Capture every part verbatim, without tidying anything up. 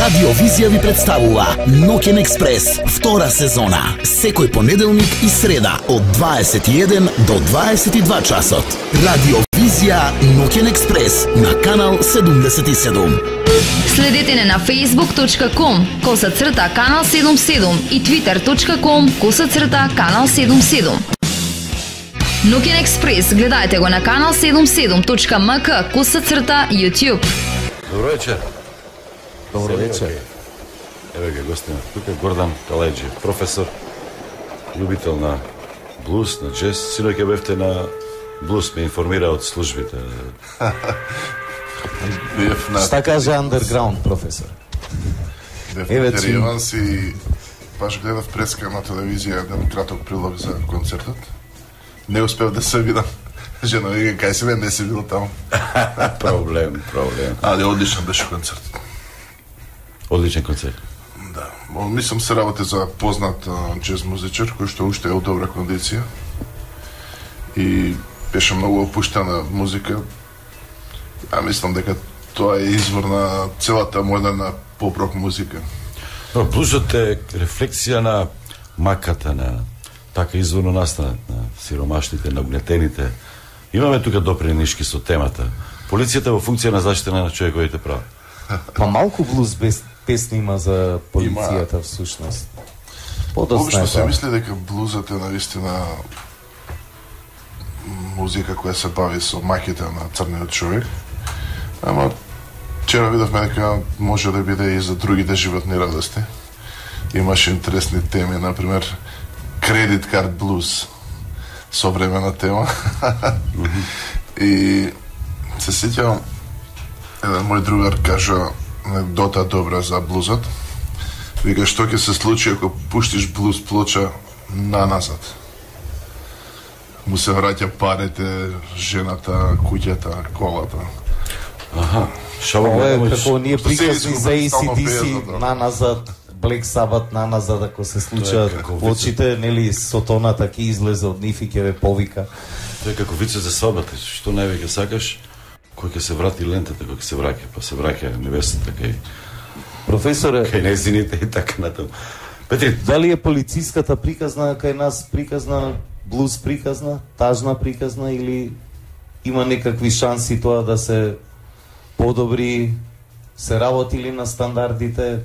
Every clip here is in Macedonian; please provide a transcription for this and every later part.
Радио Визија ви представува Ноќен експрес, втора сезона, секој понеделник и среда од дваесет и еден до дваесет и два часот. Радио Визија Ноќен експрес на канал седумдесет и седум. Следете не на facebook точка com коса црта канал седумдесет и седум и twitter точка com коса црта канал седумдесет и седум. Ноќен експрес гледајте го на канал седумдесет и седум точка ем ка коса црта YouTube. Добро вечер. Добро вечер. Еве га гостина. Тука е Гордан Каледжи, професор, љубител на блуз, на джез. Синоќ ќе бевте на блуз, ме информира од службите. Шта каже андерграунд, професор? Еве Иванс и баш гледав преска на телевизија еден краток прилог за концертот. Не успев да се видам. Жена вика, кај си бе, не си бил таму. Проблем, проблем. Али одличен беше концерт. Одличен концерт. Да. Мислам се работи за познат джез музичар, кој што уште е од добра кондиција. И беше многу опуштена музика. А мислам дека тоа е извор на целата модерна поп-рок музика. Но блузот е рефлексија на маката, на така изворно настанат, на сиромашните, на угнетените. Имаме тука допринишки со темата. Полицијата во функција на заштита на човековите права. Па малку блуз без песни има за полицијата има... всушност. Подоста Обично се мисли дека блузот е навистина музика која се бави со маките на црниот човек. Ама вчера видовме дека може да биде и за другите животни радости. Имаше интересни теми, например кредит карт блуз, современа тема. И се сеќавам, еден мој другар кажа анекдота добра за блузот. Вика, што ќе се случи ако пуштиш блуз плоча на назад? Му се враќа парите, жената, куќата, колата. Аха, шаво Ова е ме како ние приказни Седи за си, A C D C стално на назад, Black Sabbath на назад, ако се случат како плочите, нели сотоната ќе излезе од нив и ќе ве повика. Тоа е како вице за свадбата, што највеќе сакаш, кој ќе се врати лентата, кој ќе се враќа, па се враќа невестата кај Професоре, кај незините и така натаму. Петри, дали е полициската приказна кај нас приказна, блуз приказна, тажна приказна или има некакви шанси тоа да се подобри, се работи ли на стандардите?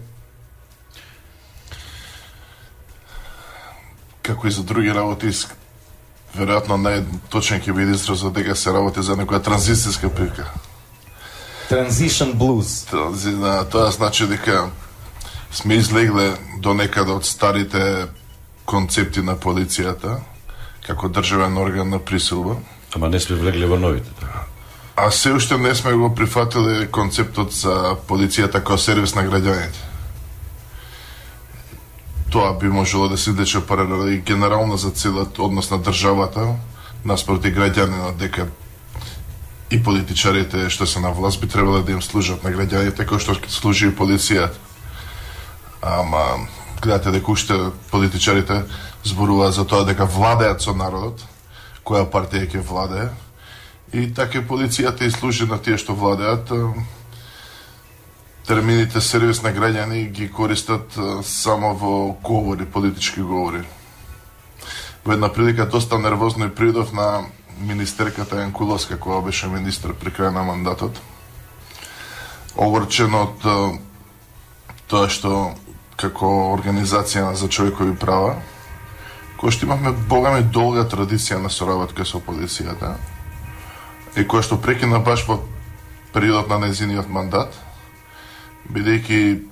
Како и за други работи, веројатно најточен ќе биде изразот дека се работи за некоја транзицијска прика. Transition blues. Тоа, тоа значи дека сме излегле до некаде од старите концепти на полицијата како државен орган на присилба. ама не сме влегле во новите. Така. А се уште не сме го прифатили концептот за полицијата како сервис на граѓаните. Тоа би можело да се влече паралела и генерално за целиот однос на државата наспроти граѓанинот, дека и политичарите што се на власт би требало да им служат на граѓаните кој што служи и полицијата. Ама гледате дека уште политичарите зборуваат за тоа дека владеат со народот, која партија ќе владее, и така полицијата и служи на тие што владеат. Термините сервис на граѓани ги користат само во говори, политички говори. Во една прилика доста нервозно и придов на министерката Јанкуловска, која беше министр при крај на мандатот. Огорчен од тоа што како организација за човекови права, која што имавме богами долга традиција на соработка со полицијата и која што прекина баш во периодот на незиниот мандат, бидејќи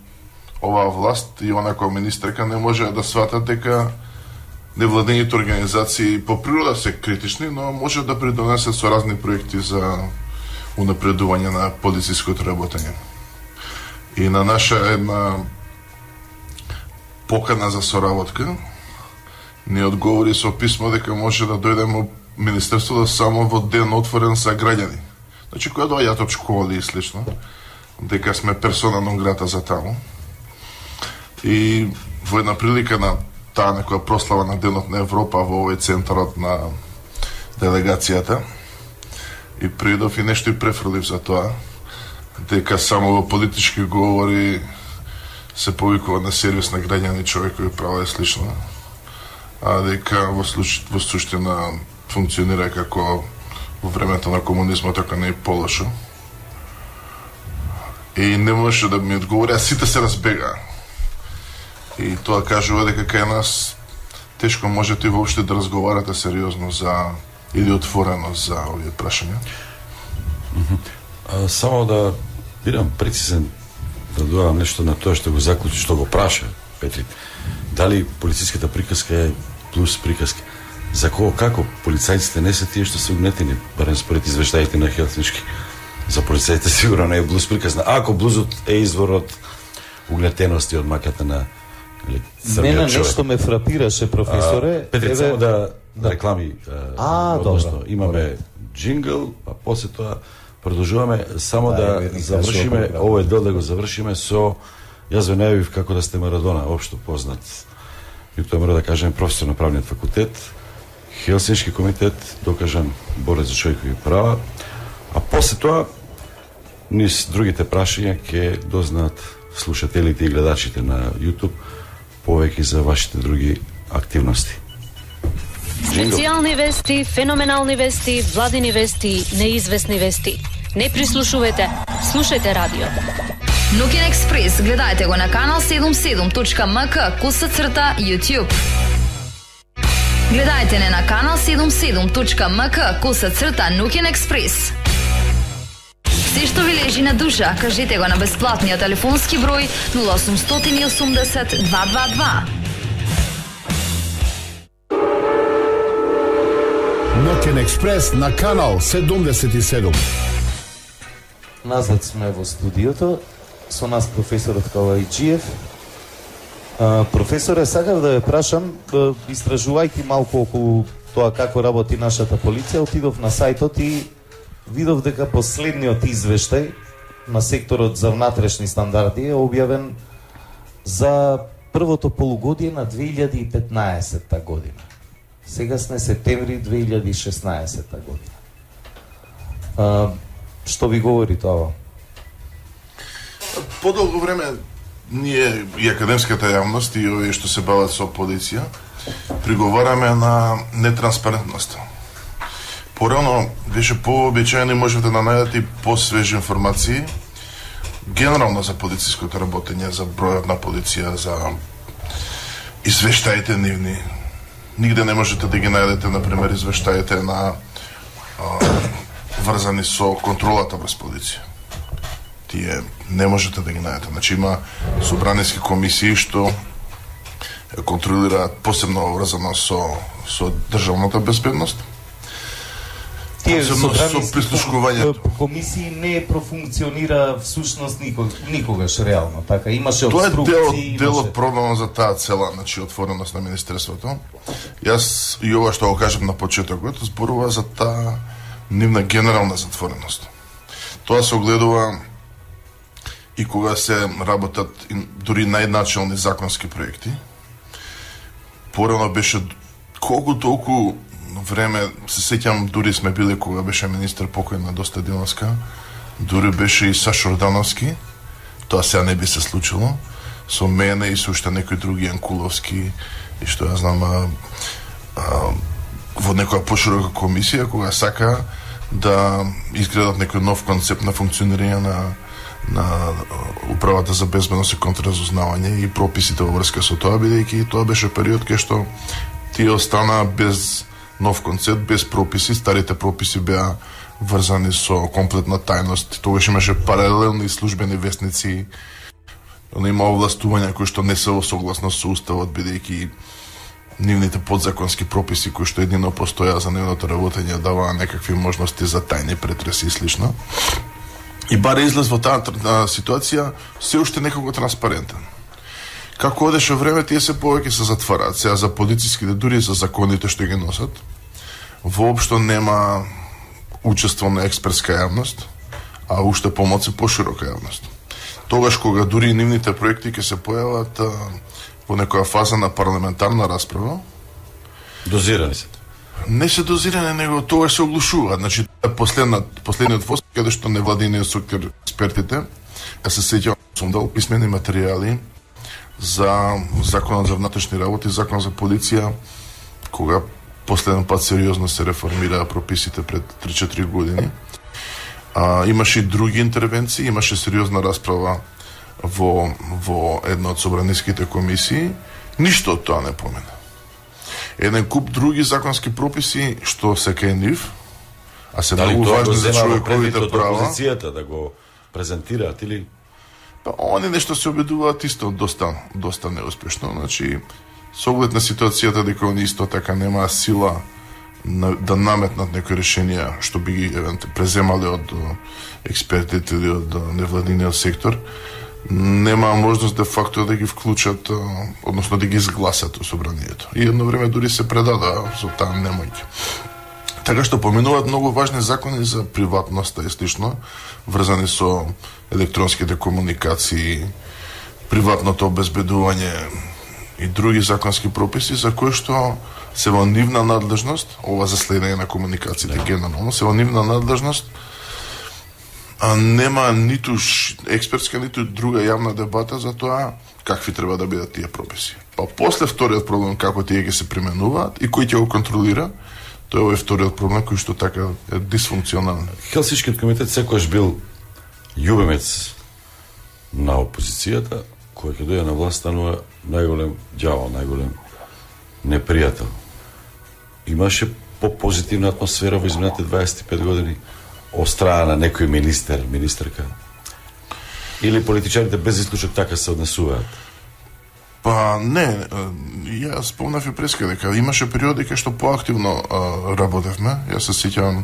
оваа власт и она која министерка не може да сватат дека невладените организации по природа се критични, но може да придонесат со разни проекти за унапредување на полициското работење. И на наша една покана за соработка ни одговори со писмо дека може да дојдеме во Министерството само во ден отворен за граѓани. Значи, која доаѓаат од школи и слично, дека сме персона нон грата за таму. И во една прилика на таа некоја прослава на Денот на Европа во овој центарот на делегацијата, и придов и нешто и префрлив за тоа, дека само во политички говори се повикува на сервис на граѓани, човекови права и слично, а дека во, случ... во суштина функционира како во времето на комунизмот, така не е полошо. И не можеше да ми одговори, а сите се разбега. И тоа кажува дека кај нас тешко можете и воопште да разговарате сериозно за или отворено за овие прашања. А, само да бидам прецизен, да додам нешто на тоа што го заклучи, што го праша Петри. Дали полициската приказка е плюс приказка? За кого, како? Полицајците не се тие што се угнетени, барем според извештаите на Хелсиншки. За полицајците сигурно не е блуз приказна. Ако блузот е извор од угнетености од маката на Мене нешто ме фрапираше, професоре. А, Петри, само да, да реклами. А, односно, добро. имаме джингл, а после тоа продолжуваме. Само да, да завршиме, овој дел да го завршиме со, јас ве најавив како да сте Марадона, општо познат. И тоа мора да кажем професор на правниот факултет, Хелсиншки комитет, докажан борец за човекови права, а после тоа низ другите прашања ќе дознаат слушателите и гледачите на YouTube повеќе за вашите други активности. Специјални вести, феноменални вести, владини вести, неизвестни вести. Не прислушувате, слушајте радио. Ноќен експрес гледајте го на канал седумдесет и седум точка ем ка коса црта YouTube. Гледајте не на канал седумдесет и седум точка ем ка коса црта Ноќен експрес. Се што ви лежи на душа, кажете го на бесплатниот телефонски број нула осумстотини и осумдесет два два два. Ноќен експрес на канал седумдесет и седум. Назад сме во студиото, со нас професорот Калајджиев. А, професоре, сакав да ве прашам, истражувајќи малку околу тоа како работи нашата полиција, отидов на сајтот и видов дека последниот извештај на секторот за внатрешни стандарди е објавен за првото полугодие на две илјади и петнаесетта година. Сега сме септември две илјади и шеснаесетта година. А, што ви говори тоа? Подолго време ние и академската јавност и овие што се бават со полиција приговараме на нетранспарентноста. Порано беше пообичаено и можете да најдете и посвежи информации генерално за полициското работење, за бројот на полиција, за извештаите нивни. Нигде не можете да ги најдете, например, извештаите на а, врзани со контролата врз полиција. Тие не можете да ги најдете. Значи има собраниски комисии што контролираат посебно врзано со со државната безбедност. Тие собраниски комисии не профункционира всушност никогаш, никогаш реално, така имаше тоа е обструкции. дел, дел од проблемот за таа цела, значи отвореност на министерството. Јас и ова што го кажам на почетокот зборува за таа нивна генерална затвореност. Тоа се огледува и кога се работат дури најначални законски проекти. Порано беше колку толку време, се сеќам, дури сме били кога беше министер покојна Доста Диловска, дури беше и Сашо Ордановски, тоа сега не би се случило, со мене и со уште некои други Јанкуловски и што ја знам а, а, во некоја поширока комисија кога сака да изградат некој нов концепт на функционирање на на управата за безбедност и контраразузнавање и прописите во врска со тоа, бидејќи тоа беше период кај што тие остана без нов концепт, без прописи, старите прописи беа врзани со комплетна тајност. Тогаш имаше паралелни службени вестници, има овластувања кои што не се во согласност со уставот, бидејќи нивните подзаконски прописи кои што едино постоја за нивното работење даваа некакви можности за тајни претреси и слично. И баре излез во таа ситуација се уште некако транспарентен. Како одеше време, тие се повеќе се затвараат. Сега за полициските, дури за законите што ги носат, воопшто нема учество на експертска јавност, а уште помоци поширока јавност. Тогаш кога дури нивните проекти ќе се појават во некоја фаза на парламентарна расправа, дозирани се. Не се дозирани, него тогаш се оглушуваат. Значи, последниот последниот фост каде што невладиниот сектор експертите, а се сеќавам сум дал писмени материјали за Законот за внатрешни работи, Закон за полиција, кога последен пат сериозно се реформираа прописите пред три-четири години. А, имаше и други интервенции, имаше сериозна расправа во, во една од собраниските комисии. Ништо од тоа не помена. Еден куп други законски прописи што се кај нив, а се дали многу важни за човековите права. Опозицијата да го презентираат или па они нешто се обидуваат исто доста доста неуспешно, значи со оглед на ситуацијата дека они исто така немаа сила на, да наметнат некои решенија што би ги евентуално преземале од експертите или од невладиниот сектор, немаа можност де факто да ги вклучат, односно да ги изгласат во собранието. И едно време дури се предадоа со таа немојќ. Така што поминуваат многу важни закони за приватноста и слично, врзани со електронските комуникации, приватното обезбедување и други законски прописи за кои што се во нивна надлежност, ова за следење на комуникациите генерално, се во нивна надлежност, а нема ниту експертска, ниту друга јавна дебата за тоа какви треба да бидат тие прописи. Па после вториот проблем како тие ќе се применуваат и кој ќе го контролира, тоа е вториот проблем кој што така е дисфункционален. Хелсиншкиот комитет секогаш бил љубимец на опозицијата, кој ќе дојде на власт станува најголем ѓавол, најголем непријател. Имаше по-позитивна атмосфера во изминатите дваесет и пет години од страна на некој министер, министерка? Или политичарите без исклучок така се однесуваат? Па не, ја спомнав и преска дека имаше периоди кај што поактивно а, работевме. Јас се сеќавам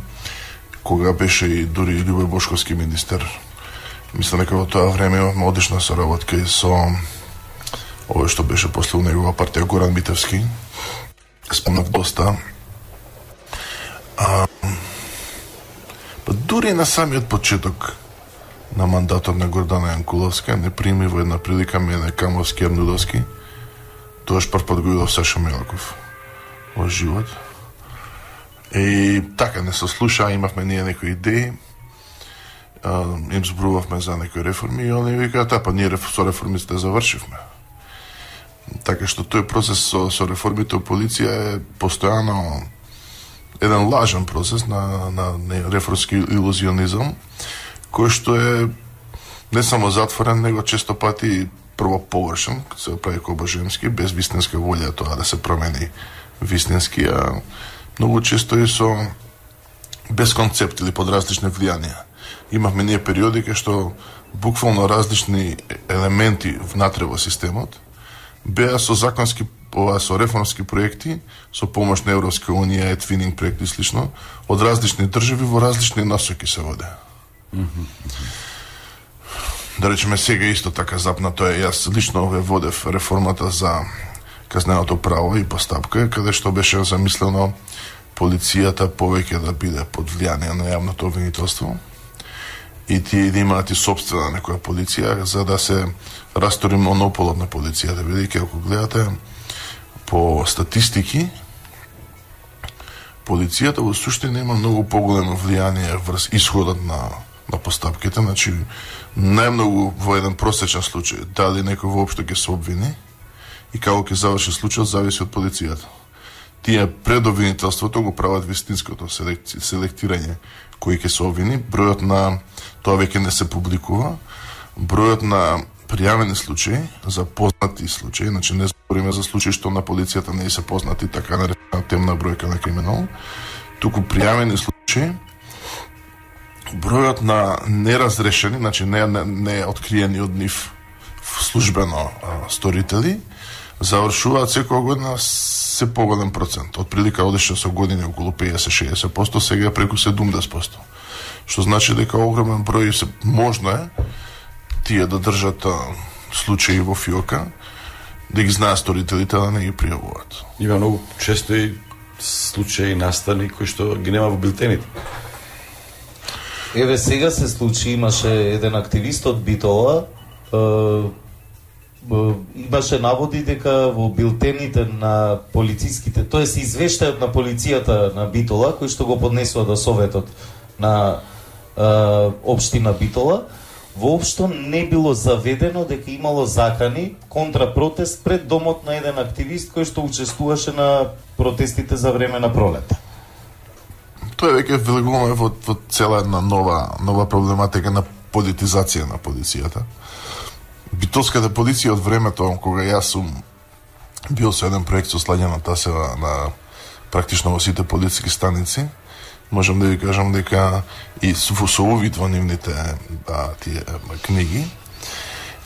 кога беше и дури Љубој Бошковски министер. Мислам дека во тоа време имавме одлична соработка и со овој што беше после негова партија Горан Митевски. Спомнав доста. А, па дури на самиот почеток на мандатот на Гордана Јанкуловска не прими во една прилика мене Камовски Ернудовски. Тоаш прв пат го видов Саша Мелаков во живот. И така не се слуша, имавме ние некои идеи. А, им зборувавме за некои реформи и они викаат, а па ние со реформите завршивме. Така што тој процес со, со реформите во полиција е постојано еден лажен процес на, на, на реформски илузионизам, кој што е не само затворен, него често пати прво површен, се прави кобажемски, без вистинска волја тоа да се промени вистински, а многу често и со без концепт или под различни влијанија. Имавме ние периоди кај што буквално различни елементи внатре во системот беа со законски, ова со реформски проекти, со помош на Европска унија, е твининг проекти и слично, од различни држави во различни насоки се воде. Да речеме сега исто така запнато е, јас лично ве водев реформата за казненото право и постапка, каде што беше замислено полицијата повеќе да биде под влијание на јавното обвинителство и тие да имаат и собствена некоја полиција, за да се растори монополот на полицијата. Бидејќи ако гледате по статистики, полицијата во суштина има многу поголемо влијание врз исходот на на постапките, значи најмногу во еден просечен случај дали некој воопшто ќе се обвини и како ќе заврши случајот зависи од полицијата. Тие пред обвинителството го прават вистинското селектирање кој ќе се обвини, бројот на тоа веќе не се публикува, бројот на пријавени случаи за познати случаи, значи не збориме за случаи што на полицијата не се познати, така наречена темна бројка на криминал, туку пријавени случаи, бројот на неразрешени, значи не, не, не откриени од нив службено а, сторители, завршуваат секоја година се поголем процент. Од прилика одеше со години околу петдесет до шеесет проценти, сега преку седумдесет проценти. Што значи дека огромен број се можно е тие да држат а, случаи во фиока, да ги знаат сторителите, да не ги пријавуваат. Има многу често и случаи настани кои што ги нема во билтените. Еве сега се случи, имаше еден активист од Битола, е, е, имаше наводи дека во билтените на полициските, тоест извештајот на полицијата на Битола, кој што го поднесува до советот на е, општина Битола, воопшто не било заведено дека имало закани контрапротест пред домот на еден активист кој што учествуваше на протестите за време на пролета. Тоа веќе влегуваме во, во цела една нова нова проблематика на политизација на полицијата. Битолската полиција од времето кога јас сум бил со еден проект со Слаѓана Тасева на практично во сите полициски станици, можам да ви кажам дека и со увид во нивните да, тие книги,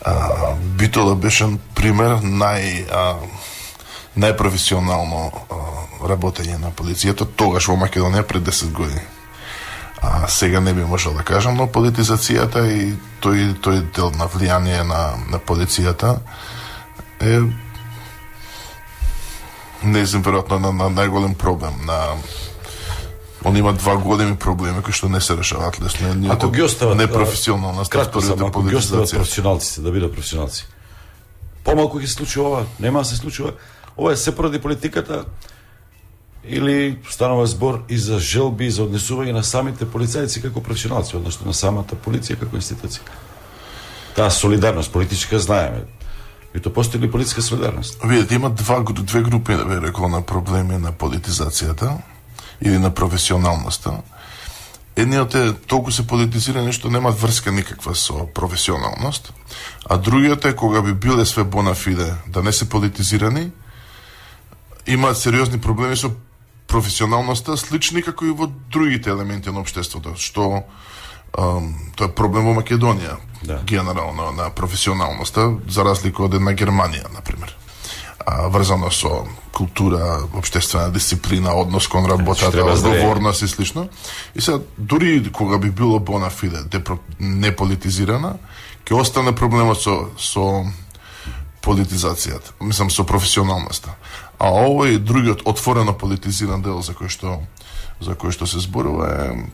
а, Битола беше пример нај а, најпрофесионално а, работење на полицијата тогаш во Македонија пред десет години. А сега не би можел да кажам, но политизацијата и тој тој дел на влијание на на полицијата е не знам веројатно на, на најголем проблем на он има два големи проблеми кои што не се решаваат лесно. Ако ги остават непрофесионална кратко само, ако ги остават професионалците да бидат професионалци. Помалку ќе се случи ова, нема да се случува. Ова е се поради политиката или станува збор и за желби и за однесување на самите полицајци како професионалци, односно на самата полиција како институција. Таа солидарност политичка знаеме. И то постои ли политичка солидарност? Видите, има два, две групи, да би рекол, на проблеми на политизацијата или на професионалноста. Едниот е толку се политизирани што немаат врска никаква со професионалност, а другиот е кога би биле све bona fide да не се политизирани, имаат сериозни проблеми со професионалноста, слични како и во другите елементи на општеството, што um, тоа е проблем во Македонија, да. Генерално на професионалноста, за разлика од една Германија, например. А, врзано со култура, општествена дисциплина, однос кон работата, одговорност и слично. И сега, дури кога би било bona fide, не политизирана, ќе остане проблемот со, со политизацијата, мислам со професионалноста. А овој другиот отворено политизиран дел за кој што за кој што се зборува е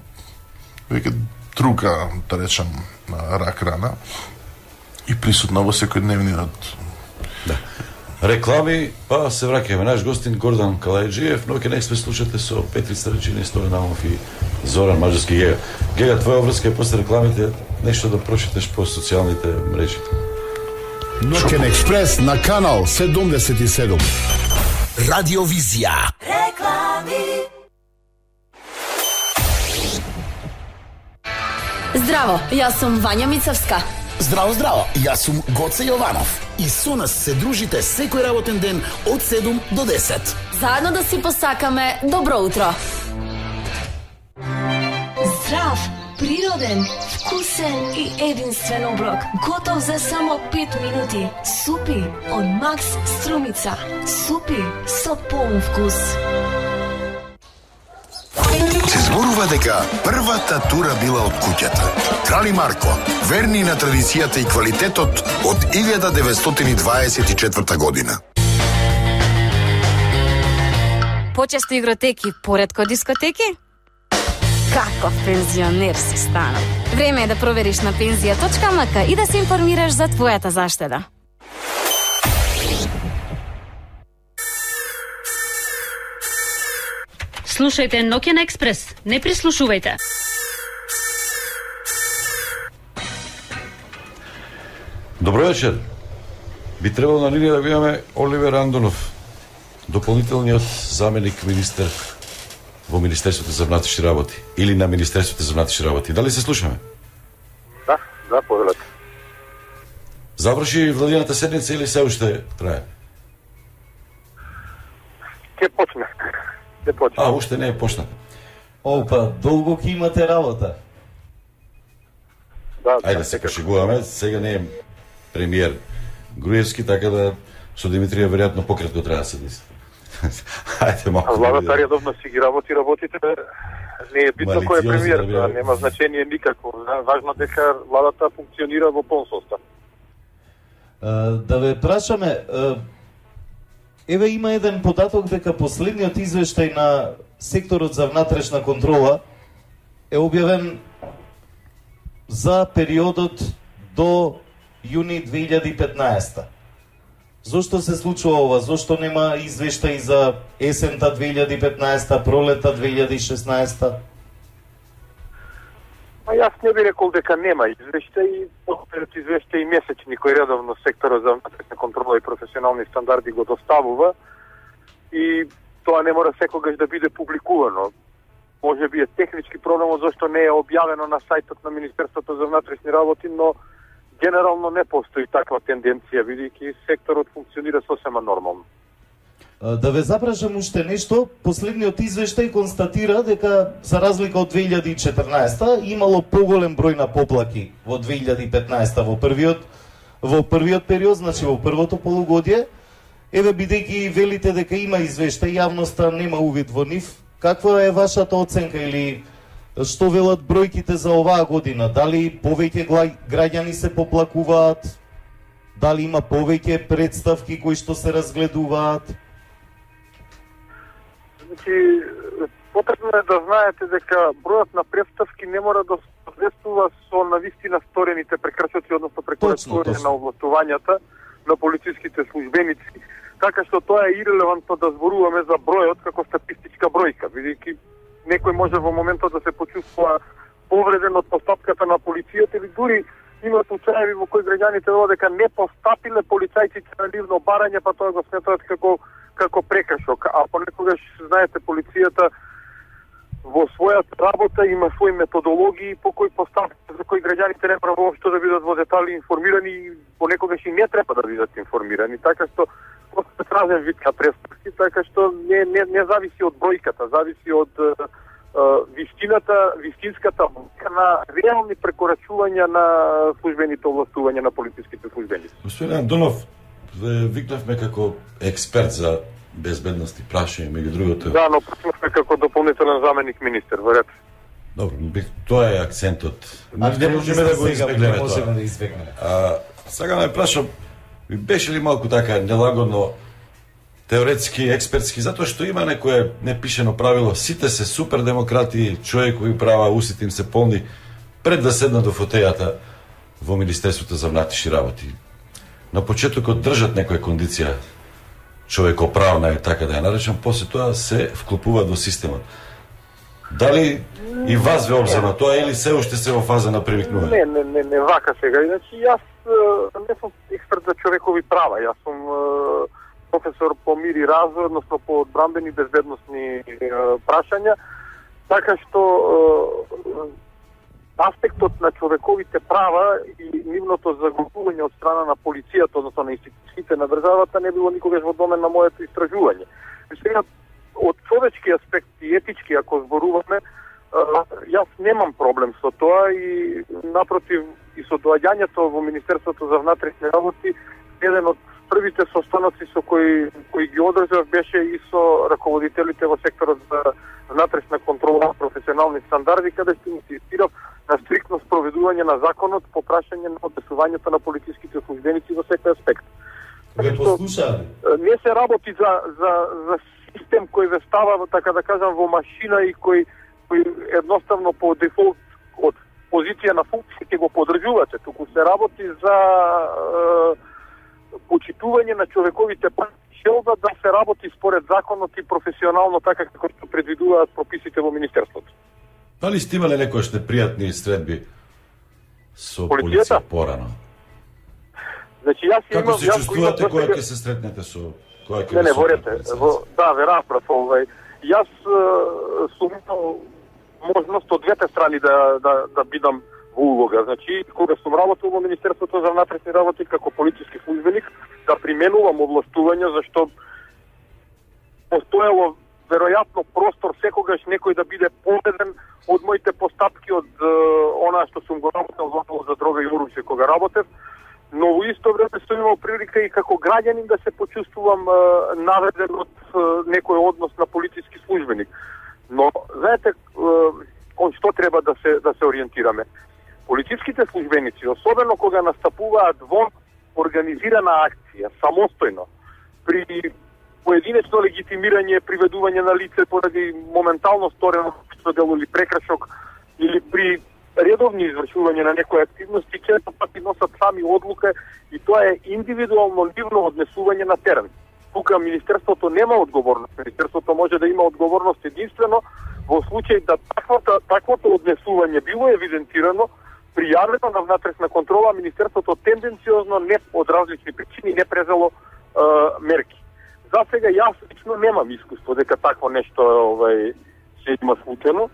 веќе друга, да речам, рак рана и присутна во секојдневниот. Да. Реклами, па се враќаме. Наш гостин Гордан Калајджиев, но ќе не се слушате со Петри Старичини, Стојан Наумов и Зоран Маđarски Гега. Гега, твоја врска е после рекламите, нешто да прочиташ по социјалните мрежи. Ноќен експрес на канал седумдесет и седум. Радиовизија. Реклами. Здраво, јас сум Вања Мицевска. Здраво, здраво, јас сум Гоце Јованов. И со нас се дружите секој работен ден од седум до десет. Заедно да си посакаме добро утро. Здрав, природен, вкусен и единствен оброк. Готов за само пет минути. Супи од Макс Струмица. Супи со полн вкус. Се зборува дека првата тура била од куќата. Крали Марко, верни на традицијата и квалитетот од илјада деветстотини дваесет и четврта година. Почесто игротеки, поредко дискотеки? Каков пензионер си станал? Време е да провериш на пензија точка ем ка и да се информираш за твојата заштеда. Слушајте Ноќен експрес, не прислушувајте. Добро вечер. Би требало на линија да го имаме Оливер Андонов, дополнителниот заменик министер во Министерството за внатрешни работи или на Министерството за внатрешни работи. Дали се слушаме? Да, да, повелете. Заврши владината седница или се уште трае? Ке почне. Ке почне. А, уште не е почнат. Опа, долго ќе имате работа. Да, Ајде да се кашегуваме, сега не е премиер Груевски, така да со Димитрија веројатно пократко треба да се диси. Ајде малку. А владата редовно си ги работи работите, не е битно кој е премиер, да, нема значение никакво. Важно дека владата функционира во полн состав. Да ве прашаме, еве има еден податок дека последниот извештај на секторот за внатрешна контрола е објавен за периодот до јуни две илјади и петнаесета. Зошто се случува ова? Зошто нема извештај за есента две илјади и петнаесета, пролета две илјади и шеснаесета? Па јас не би рекол дека нема извештаи, пред извештаи месечни кој редовно секторот за внатрешна контрола и професионални стандарди го доставува и тоа не мора секогаш да биде публикувано. Може би е технички проблем зашто не е објавено на сајтот на Министерството за внатрешни работи, но генерално не постои таква тенденција, бидејќи секторот функционира сосема нормално. Да ве запрашам уште нешто, последниот извештај констатира дека за разлика од две илјади и четрнаесета имало поголем број на поплаки во две илјади и петнаесета во првиот во првиот период, значи во првото полугодие. Еве бидејќи велите дека има извештај, јавноста нема увид во нив, каква е вашата оценка или што велат бројките за оваа година? Дали повеќе граѓани се поплакуваат? Дали има повеќе представки кои што се разгледуваат? Значи, потребно е да знаете дека бројот на представки не мора да соодветствува со навистина сторените прекршоци, односно прекорачување на овластувањата на полициските службеници, така што тоа е ирелевантно да зборуваме за бројот како статистичка бројка, бидејќи некој може во моментот да се почувствува повреден од постапката на полицијата или дури има случаеви во кои граѓаните велат дека не постапиле полицајците на нивно барање, па тоа го сметаат како како прекршок, а понекогаш, знаете, полицијата во својата работа има своји методологии по кои постапки за кои граѓаните не мора воопшто да бидат во детали информирани и понекогаш и не треба да бидат информирани, така што просто разен вид на престапки, така што не, не, не зависи од бројката, зависи од uh, вистината, вистинската бројка на реални прекорачувања на службените овластувања на полициските службеници. Господин Андонов, викнавме како експерт за безбедност и прашање, меѓу другото. Да, но почнавме како дополнителен заменик министер, во ред. Добро, тоа е акцентот. А не можеме да го избегнеме тоа. Можеме да избегнеме. А, сега ме прашам, беше ли малку така нелагодно теоретски, експертски, затоа што има некое непишено правило, сите се супер демократи, човекови права, усите им се полни, пред да седнат до фотејата во Министерството за внатрешни работи. На почетокот држат некоја кондиција човекоправна е така да ја наречам, после тоа се вклопуваат во системот. Дали и вас ве обзема тоа или се уште се во фаза на привикнување? Не, не, не, не вака сега. Значи, јас не сум експерт за човекови права, јас сум професор по мир и развој, односно по одбранбени и безбедносни прашања, така што аспектот на човековите права и нивното загубување од страна на полицијата, односно на институциите на државата, не било никогаш во домен на моето истражување. Сега, од човечки аспект и етички, ако зборуваме, јас немам проблем со тоа и напротив и со доаѓањето во Министерството за внатрешни работи, еден од првите состаноци со кои кои ги одржав беше и со раководителите во секторот за внатрешна контрола на професионални стандарди, каде што инсистирав на стриктно спроведување на законот по прашање на однесувањето на полициските службеници во секој аспект. Ве послушале? Не се работи за за за систем кој ве става, така да кажам, во машина и кој кој едноставно по дефолт од позиција на функција ќе го подржувате, туку се работи за е, почитување на човековите права, желба да се работи според законот и професионално така како што предвидуваат прописите во министерството. Дали сте имале некојаш непријатни средби со полицијата порано? Значи јас Како имам, се јас чувствувате имам, кога ќе се сретнете со кога ќе Не, не, во ред, да, ве разбрав, овај. Јас сум имал можност од двете страни да да да бидам во улога. Значи, кога сум работел во Министерството за внатрешни работи како полициски службеник, да применувам овластувања, зашто постоело веројатно простор секогаш некој да биде поведен од моите постапки, од она што сум го работел во за дрога и оружје кога работев, но во исто време сум имал прилика и како граѓанин да се почувствувам наведен од некој однос на полициски службеник. Но знаете кон што треба да се да се ориентираме? Полициските службеници, особено кога настапуваат во организирана акција, самостојно, при поединечно легитимирање, приведување на лице поради моментално сторено дело или прекршок, или при редовни извршување на некои активности, често пати носат сами одлука и тоа е индивидуално ливно однесување на терен. тука Министерството нема одговорност. Министерството може да има одговорност единствено во случај да таквото, таквото однесување било евидентирано, пријавено на внатрешна контрола, Министерството тенденциозно не од различни причини не презело е, мерки. За сега јас лично немам искуство дека такво нешто овај се има случено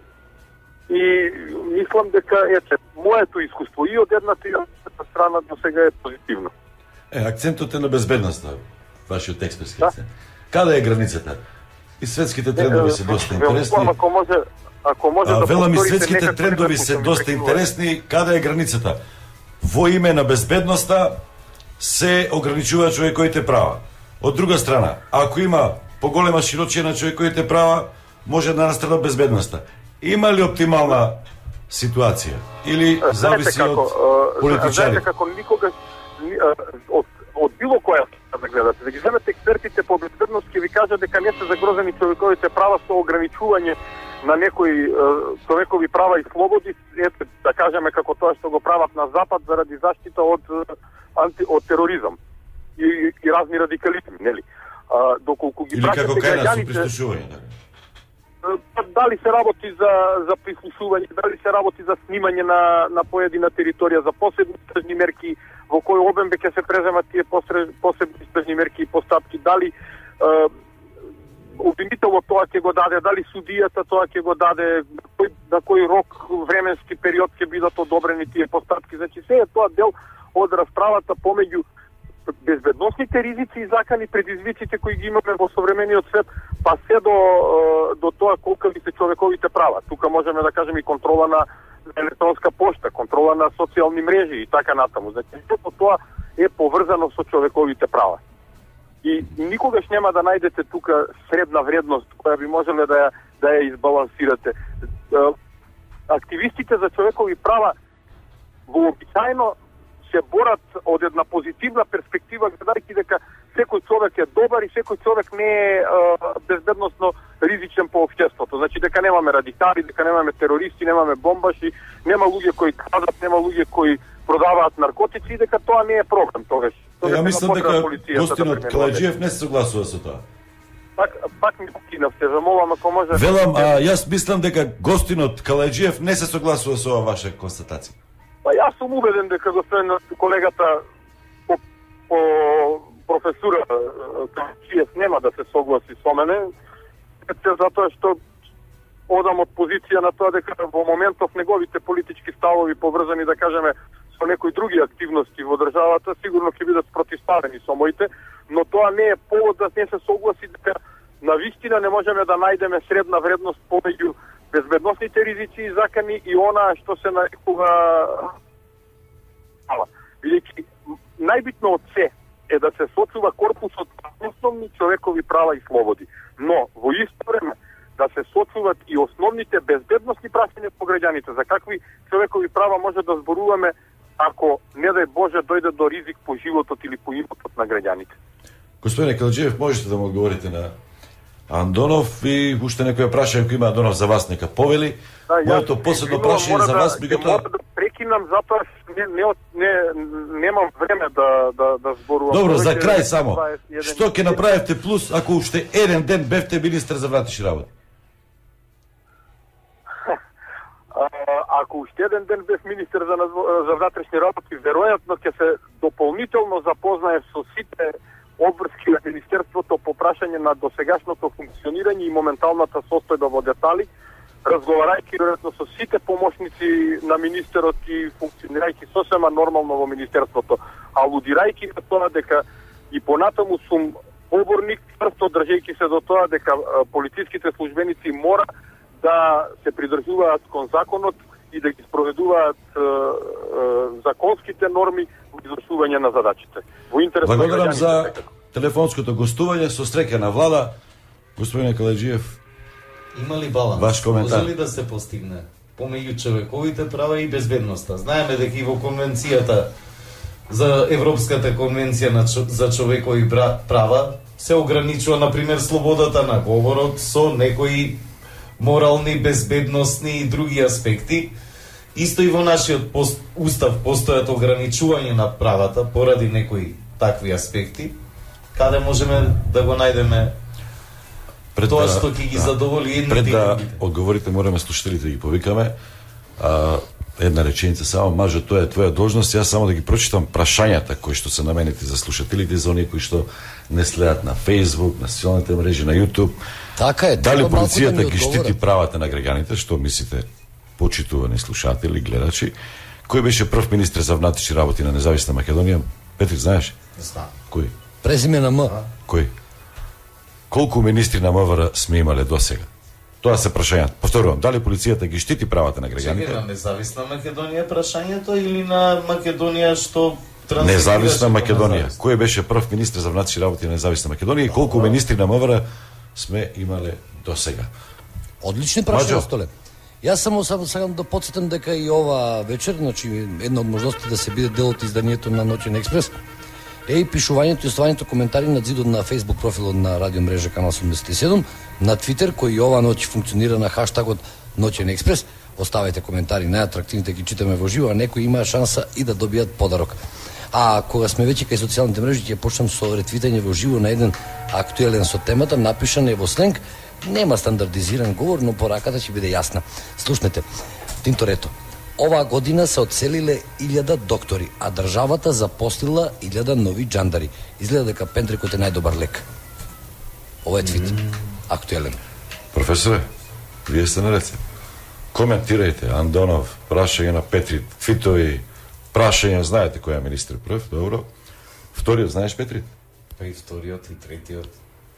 и мислам дека ете моето искуство и од едната и од другата страна до сега е позитивно. Е, акцентот е на безбедноста, вашиот експертски акцент. Каде е границата? И светските трендови се доста интересни. Ако може, ако може а, да велам и повторите светските некако трендови некако се ми доста прекинува. интересни. Каде е границата? Во име на безбедноста се ограничува човековите права. Од друга страна, ако има поголема широчина на човековите права, може да настрада безбедноста. Има ли оптимална ситуација? Или зависи како, од политичари? Знаете како никогаш од, од било која да гледате, да ги земете експертите по безбедност ќе ви кажат дека не се загрозени човековите права со ограничување на некои е, човекови права и слободи, ете, да кажеме како тоа што го прават на Запад заради заштита од анти, од тероризам и, и разни радикализми, нели? А, доколку ги Или како прашате кај нас со граѓаните, прислушување, да? дали се работи за за прислушување, дали се работи за снимање на на поедина територија, за посебни стражни мерки, во кој обем ќе се преземат тие посебни стражни мерки и постапки, дали е, обвинителот тоа ќе го даде, дали судијата тоа ќе го даде, на кој, на кој рок, временски период ќе бидат одобрени тие постапки. Значи се е тоа дел од расправата помеѓу безбедносните ризици и закани предизвиците кои ги имаме во современиот свет, па се до до тоа колку се човековите права. Тука можеме да кажеме и контрола на електронска пошта, контрола на социјални мрежи и така натаму. Значи сето тоа е поврзано со човековите права. И никогаш нема да најдете тука средна вредност која би можеле да ја да ја избалансирате. Активистите за човекови права вообичаено се борат од една позитивна перспектива, гледајќи дека секој човек е добар и секој човек не е, е безбедносно ризичен по општеството. Значи дека немаме радикали, дека немаме терористи, немаме бомбаши, нема луѓе кои крадат, нема луѓе кои продаваат наркотици и дека тоа не е проблем тогаш. Е, ја мислам дека гостинот Калаџиев не се согласува со тоа. Пак пак ми покинав, се замолам ако може. Велам, а јас мислам дека гостинот Калаџиев не се согласува со ова ваша констатација. Па јас сум убеден дека господин колегата по, по професура Калаџиев нема да се согласи со мене, затоа што одам од позиција на тоа дека во моментов неговите политички ставови поврзани, да кажеме, со некои други активности во државата, сигурно ќе бидат спротивставени со моите, но тоа не е повод да не се согласи дека навистина не можеме да најдеме средна вредност помеѓу безбедносните ризици и закани и она што се нарекува бидејќи најбитно од се е да се сочува корпусот на основни човекови права и слободи, но во исто време да се сочуваат и основните безбедносни прашања по граѓаните. За какви човекови права може да зборуваме ако, не дај Боже, дојде до ризик по животот или по имотот на граѓаните? Господине Калаџиев, можете да му одговорите на Андонов и уште некоја прашање кој има Андонов за вас, нека повели. Да, моето последно прашање за вас, меѓутоа мора да прекинам затоа не не не немам време да да да зборувам. Добро, за крај само. Што ќе направите плюс ако уште еден ден бевте министер за внатрешни работи? Ако уште еден ден бев министер за за внатрешни работи, веројатно ќе се дополнително запознаев со сите обврски на Министерството по прашање на досегашното функционирање и моменталната состојба во детали, разговарајќи веројатно со сите помошници на министерот и функционирајќи сосема нормално во Министерството, алудирајќи на тоа дека и понатаму сум поборник, тврсто држејќи се до тоа дека полициските службеници мора да се придржуваат кон законот и да ги спроведуваат е, е, законските норми во извршување на задачите. Во интерес на Благодарам граѓаните. за телефонското гостување, со среќа на влада. Господине Калаџиев, има ли баланс? Ваш коментар. Може ли да се постигне помеѓу човековите права и безбедноста? Знаеме дека и во конвенцијата за Европската конвенција на чо, за човекови права се ограничува, например, слободата на говорот со некои морални, безбедносни и други аспекти. Исто и во нашиот пост, устав постојат ограничување на правата поради некои такви аспекти. каде можеме да го најдеме пред тоа да, што ќе ги задоволи едните пред и да другите? одговорите, мораме слушателите да ги повикаме. А, една реченица само, мажо, тоа е твоја должност. Јас само да ги прочитам прашањата кои што се наменети за слушателите, за оние кои што не следат на Facebook, на социјалните мрежи, на YouTube. Така е. Дали треба малку полицијата да ми ги одговорат. штити правата на граѓаните, што мислите, почитувани слушатели, гледачи? Кој беше прв министр за внатрешни работи на Независна Македонија? Петри, знаеш? Не знам. Кој? Презиме на М. Кој? Колку министри на МВР сме имале досега? Тоа се прашањата. Повторувам, дали полицијата ги штити правата на Чекай, граѓаните? на Независна Македонија прашањето или на Македонија што трансферираше Независна кон Македонија. независна? Кој беше прв министр за внатрешни работи на Независна Македонија и колку министри на МВР сме имале досега? Одлични прашања, Маđo. Столе. Јас само само сакам да потсетам дека и ова вечер, значи една од можности да се биде дел од изданието на Ноќен експрес е и пишувањето и оставањето коментари на зидот на Facebook профилот на радио мрежа Канал седумдесет и седум, на Твитер кој и ова ноќ функционира на хаштагот Ноќен експрес. Оставете коментари, најатрактивните ги читаме во живо, а некои имаа шанса и да добијат подарок. А кога сме веќе кај социјалните мрежи, ќе почнам со ретвитање во живо на еден актуелен со темата, напишан е во сленг. Нема стандардизиран говор, но пораката ќе биде јасна. Слушнете, Тинторето. Оваа година се одселиле илјада доктори, а државата запослила илјада нови джандари. Изгледа дека пентрикот е најдобар лек. Ова е твит. Актуелен. Професоре, вие сте на рецепт. Коментирајте, Андонов, прашање на Петри, твитови, прашање, знаете кој е министр прв, добро. Вториот знаеш, Петри? Па и вториот и третиот.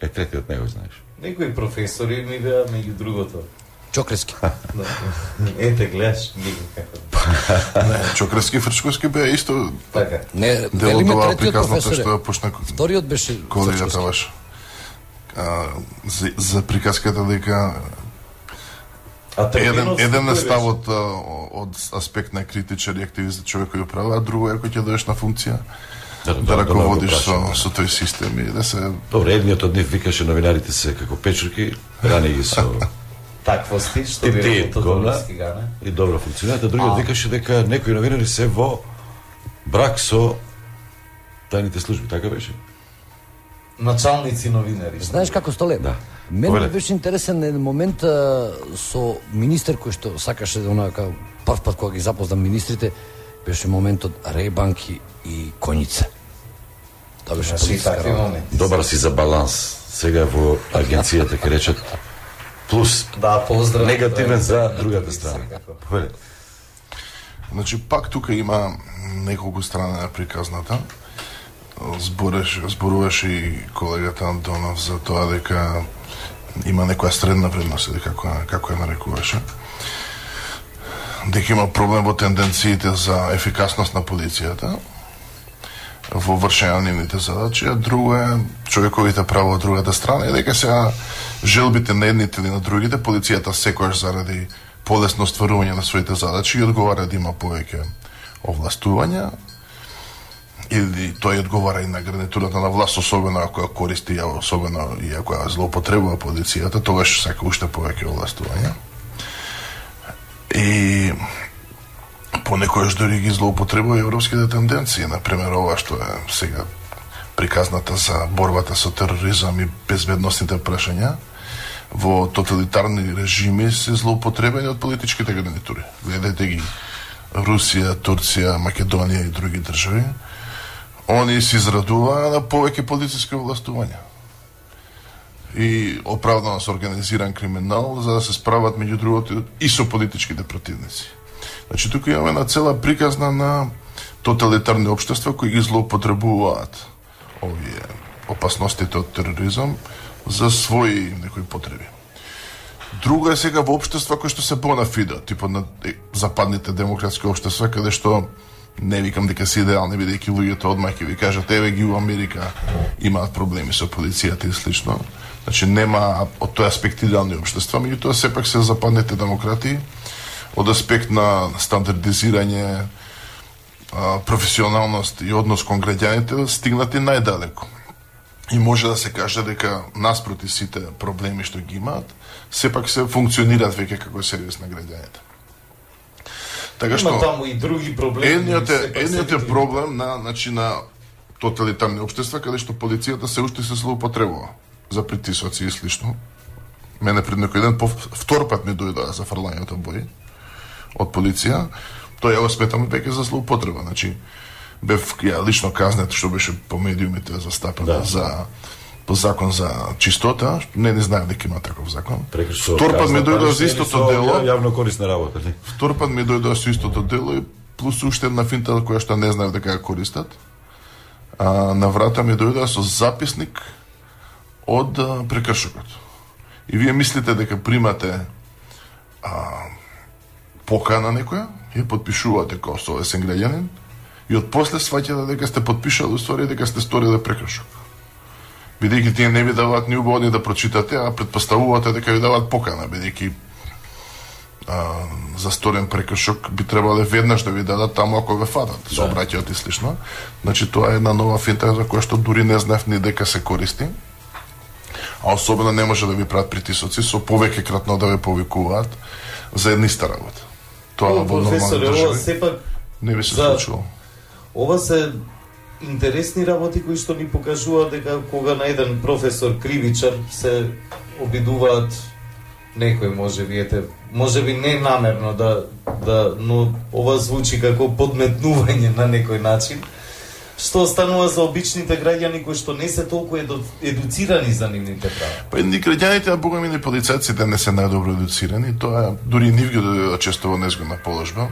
Е, третиот не го знаеш. Некои професори ми беа меѓу другото. Чокрески. Да. Ете, гледаш, ги како. Не, Чокрески и Фрчковски беа исто. Така. Не, дел од велиме оваа третиот приказната професоре. што ја почна Вториот беше колегата Фрчковски. ваш. А, за, за приказката дека А еден, терминот еден е кој ставот а, од аспект на критичар и активист за човекови права, а друго е кој ќе доеш на функција Да, да да, раководиш да, со, да. со тој систем и да се... Добре, едниот од нив викаше новинарите се како печурки, рани ги со таквости, што тип би тип рекол говна Тодоровски гане. и добро функционираат, а другиот викаше дека некои новинари се во брак со тајните служби, така беше? Началници новинари. Знаеш како, Столе? Да. Мене Повеле. беше интересен еден момент а, со министер кој што сакаше да онака прв пат кога ги запознам министрите, беше моментот Рейбанки и Коњица. Тоа беше Значи, политичка такви работа. моменти. Добар си за баланс. Сега во агенцијата ќе речат плюс. Да, поздрав. Негативен за другата страна. Повеле. Значи, пак тука има неколку страни на приказната. Збореш, зборуваше и колегата Антонов за тоа дека има некоја средна вредност, или како, како ја нарекуваше. Дека има проблем во тенденциите за ефикасност на полицијата во вршење на нивните задачи, а друго е човековите права од другата страна и дека сега желбите на едните или на другите, полицијата секојаш заради полесно остварување на своите задачи и одговара да има повеќе овластувања, или тој одговара и на гарнитурата на власт, особено ако ја користи, особено и ако ја злоупотребува полицијата, тогаш сака уште повеќе овластувања. И понекојаш дори ги злоупотребува европските тенденции, например ова што е сега приказната за борбата со тероризам и безбедносните прашања, во тоталитарни режими се злоупотребени од политичките гарнитури. Гледате ги Русија, Турција, Македонија и други држави. Они се израдуваа на повеќе полициски властувања и оправдано со организиран криминал за да се справат меѓу другото и со политичките противници. Значи тука имаме една цела приказна на тоталитарни општества кои ги злоупотребуваат овие опасностите од тероризам за своји некои потреби. Друго е сега во општества кои што се бонафиде, типот на западните демократски општества, каде што не викам дека се идеални, бидејќи луѓето одмах ќе ви кажат, еве ги у Америка имаат проблеми со полицијата и слично. Значи нема од тој аспект идеални општества, меѓутоа сепак се западните демократи од аспект на стандардизирање, професионалност и однос кон граѓаните стигнати најдалеко. И може да се каже дека наспроти сите проблеми што ги имаат, сепак се функционираат веќе како сервис на граѓаните. Така што има таму и други проблеми. едниот е сепак едниот се е види. проблем на значи на тоталитарни општества каде што полицијата се уште се злоупотребува за притисоци и слично. Мене пред некој ден по втор пат ми дојдоа за фрлањето бои од полиција. Тоа ја го сметам веќе за злоупотреба. Значи, бев ја лично казнет што беше по медиумите застапено да. за по закон за чистота, не не знаев дека има таков закон. Прекршо, втор пат ми дојдоа за истото дело. Јавно корисна работа, не? Втор пат ми дојдоа со истото дело и плюс уште една финта која што не знаев дека ја користат. А на врата ми дојдоа со записник од а, прекршокот. И вие мислите дека примате а, покана некоја, ја подпишувате како совесен граѓанин и од после сваќате дека сте подпишали уствари дека сте сториле прекршок. Бидејќи тие не ви даваат ни убаво ни да прочитате, а предпоставувате дека ви даваат покана, бидејќи за сторен прекршок би требале веднаш да ви дадат таму ако ве фатат, да. Со обраќаат и слично. Значи тоа е една нова финта за која што дури не знаев ни дека се користи. А особено не може да ви прават притисоци со повеќе кратно да ве повикуваат за една иста работа. Тоа во нормални држави сепак не би се за... случило. Ова се интересни работи кои што ни покажуваат дека кога на еден професор кривичар се обидуваат некој може би ете може би не намерно да да но ова звучи како подметнување на некој начин. Што останува за обичните граѓани кои што не се толку еду, едуцирани за нивните права? Па и граѓаните, а богами ни полицајците не се најдобро едуцирани, тоа дури нив ги дојдоа често во незгодна положба,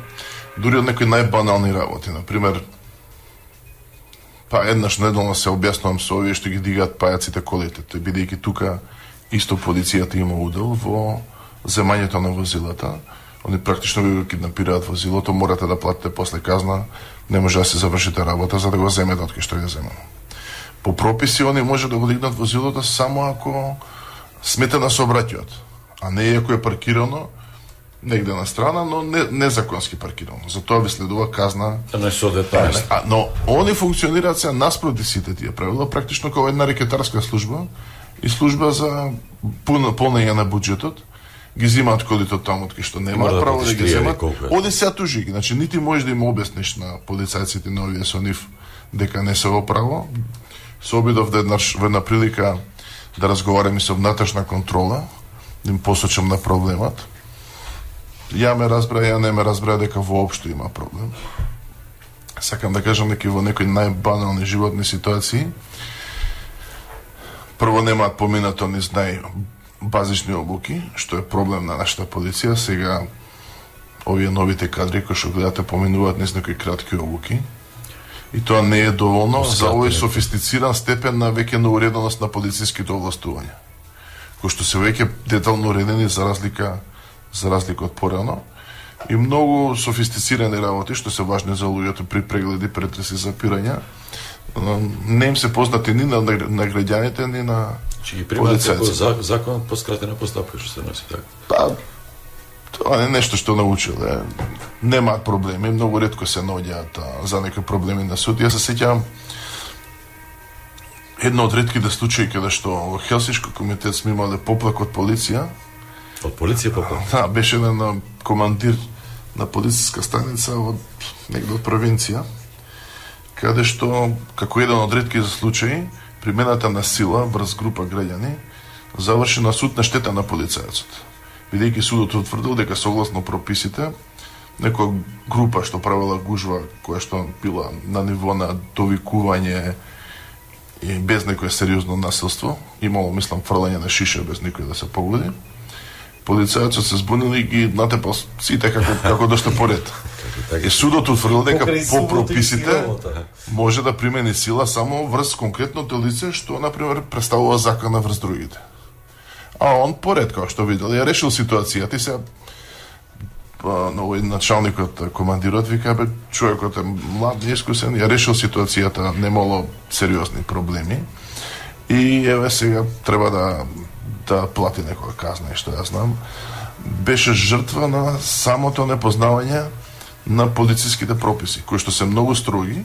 дури од некои најбанални работи, например, па еднаш неделно се објаснувам со овие што ги дигаат пајаците колите, тој бидејќи тука исто полицијата има удел во земањето на возилата. Они практично ви киднапираат возилото, морате да платите после казна, не може да се завршите работа за да го земете од кај што ја земано. По прописи они може да го дигнат возилото само ако сметена сообраќајот, а не ако е паркирано негде на страна, но не, незаконски паркирано. За тоа ви следува казна. Не со детали. Но они функционираат се наспроти сите тие правила, практично како една рекетарска служба и служба за полнење на буџетот. Ги земаат колите таму од кај што немаат право да ги земат. Оди се тужи ги, значи нити можеш да им објасниш на полицајците на овие со нив дека не се во право. Се обидов да еднаш во една прилика да разговарам и со внатрешна контрола, да им посочам на проблемот. Ја ме разбра, ја не ме разбра дека воопшто има проблем. Сакам да кажам дека во некои најбанални животни ситуации прво немаат поминато низ нај базични обуки, што е проблем на нашата полиција. Сега овие новите кадри кои што гледате поминуваат низ некои кратки обуки. И тоа не е доволно за овој софистициран степен на веќе на уреденост на полициските овластувања, кои што се веќе детално уредени за разлика за разлика од порано. И многу софистицирани работи што се важни за луѓето при прегледи, претреси, запирања, не им се познати ни на, на граѓаните, ни на Че ги примаат секој закон по скратена постапка, што се носи така? Па, тоа не е нешто што научиле. Немаат проблеми, многу ретко се наоѓаат за некои проблеми на суд. Јас се сеќавам едно од ретките случаи каде што во Хелсиншки комитет сме имале поплак од полиција. Од полиција поплак? Да, беше еден командир на полициска станица од негде од провинција, каде што, како еден од ретки случаи, примената на сила врз група граѓани заврши на суд на штета на полицајецот. Бидејќи судот утврдил дека согласно прописите некоја група што правила гужва која што била на ниво на довикување и без некое сериозно насилство, имало мислам фрлање на шиша без никој да се погоди. Полицајецот се збунил и ги натепал сите како како доште поред. И судот утврдил дека по прописите може да примени сила само врз конкретното лице што на пример представува закона врз другите. А он поред како што видел, ја решил ситуацијата и се на овој началникот, командирот вика бе човекот е млад, неискусен, ја решил ситуацијата, немало сериозни проблеми. И еве сега треба да да плати некоја казна, што ја знам. Беше жртва на самото непознавање на полициските прописи, кои што се многу строги,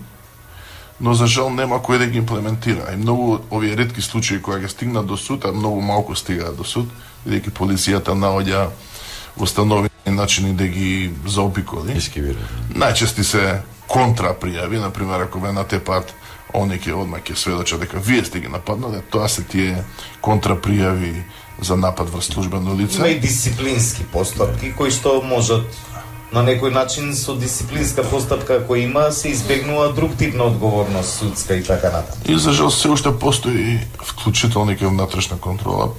но за жал нема кој да ги имплементира. И многу овие ретки случаи кои ги стигнат до суд, а многу малку стигаат до суд, бидејќи полицијата наоѓа установени начини да ги заобиколи. Ескивира. Најчести се контра пријави, например, ако ве натепат они ќе одма ќе сведочат дека вие сте ги нападнале, тоа се тие контрапријави за напад врз службено лице. Има и дисциплински постапки кои што можат на некој начин со дисциплинска постапка кој има се избегнува друг тип на одговорност судска и така натаму. И за жал се уште постои вклучително и внатрешна контрола.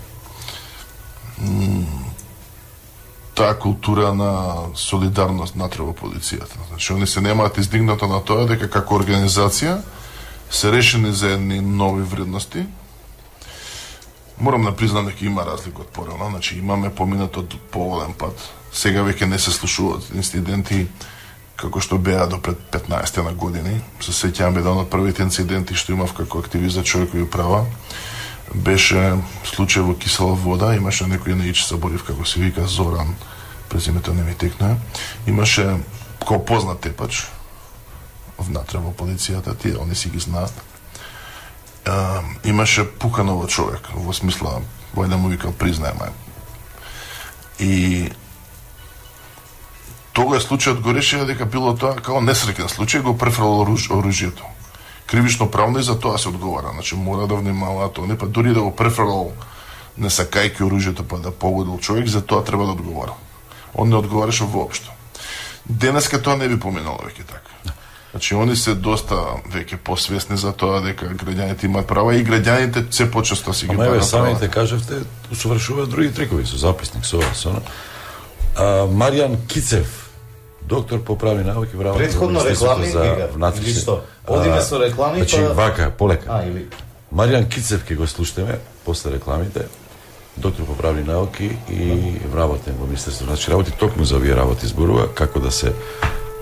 Таа култура на солидарност натре во полицијата. Значи, они се немаат издигнато на тоа дека како организација се решени за едни нови вредности. Морам да признам дека има разлика од порано, значи имаме поминато поволен пат. Сега веќе не се слушуваат инциденти како што беа до пред петнаесет на години. Се сеќавам еден од првите инциденти што имав како активист за човекови права. Беше случај во Кисела вода, имаше некој наич заборив како се вика Зоран, презимето не ми текна. Имаше кој познат тепач внатре во полицијата, тие они си ги знаат. Uh, имаше пукано во човек, во смисла, вој да му викал признаеме. И тогаш случајот го решија дека било тоа како несреќен случај, го префрло оружјето. Кривично правно и за тоа се одговара, значи мора да внимава тоа, не па дури да го префрло не сакајќи оружјето па да погодил човек, за тоа треба да одговара. Он не одговараше воопшто. Денеска тоа не би поминало веќе така. Значи, они се доста веќе посвесни за тоа дека граѓаните имаат права и граѓаните се почесто си ги прават. Ама самите кажавте, усовршуваат други трикови со записник, со со. А, Маријан Кицев, доктор по правни науки, вработи предходно реклами за внатрешни. Или што? Одиме со реклами, значи, па вака, полека. А, или Маријан Кицев ќе го слушнеме после рекламите. Доктор по правни науки и вработен во Министерството. Значи, работи токму за овие работи зборува како да се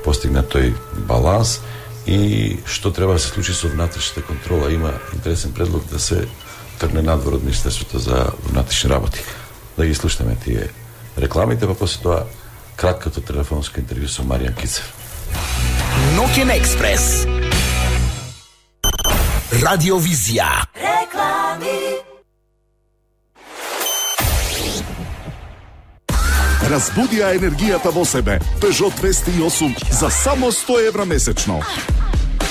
постигне тој баланс и што треба да се случи со внатрешната контрола. Има интересен предлог да се тргне надвор од Министерството за внатрешни работи. Да ги слушнеме тие рекламите, па после тоа краткото телефонско интервју со Маријан Кицев. Ноќен експрес. Радиовизија. Реклами. Разбуди ја енергијата во себе. Peugeot двеста и осум за само сто евра месечно.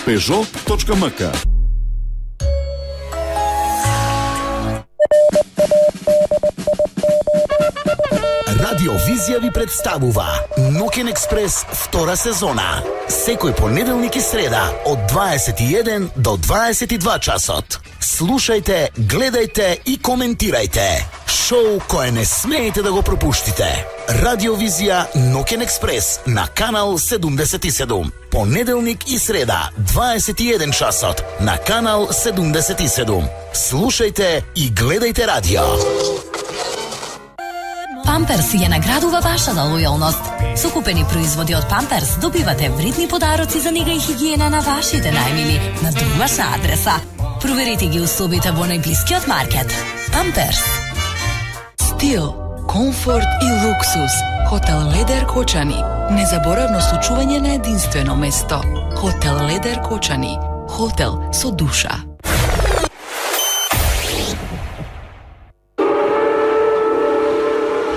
Peugeot точка ем ка. Радиовизија ви представува Ноќен експрес втора сезона. Секој понеделник и среда од дваесет и еден до дваесет и два часот. Слушајте, гледајте и коментирајте. Шоу кое не смеете да го пропуштите. Радиовизија Ноќен експрес на канал седумдесет и седум. Понеделник и среда, дваесет и еден часот на канал седумдесет и седум. Слушајте и гледајте радио. Памперс ја наградува вашата лојалност. Со купени производи од Памперс добивате вредни подароци за нега и хигиена на вашите најмили на домашна адреса. Проверете ги условите во најблискиот маркет. Памперс. Стил, комфорт и луксус. Хотел Ледер Кочани. Незаборавно случување на единствено место. Хотел Ледер Кочани. Хотел со душа.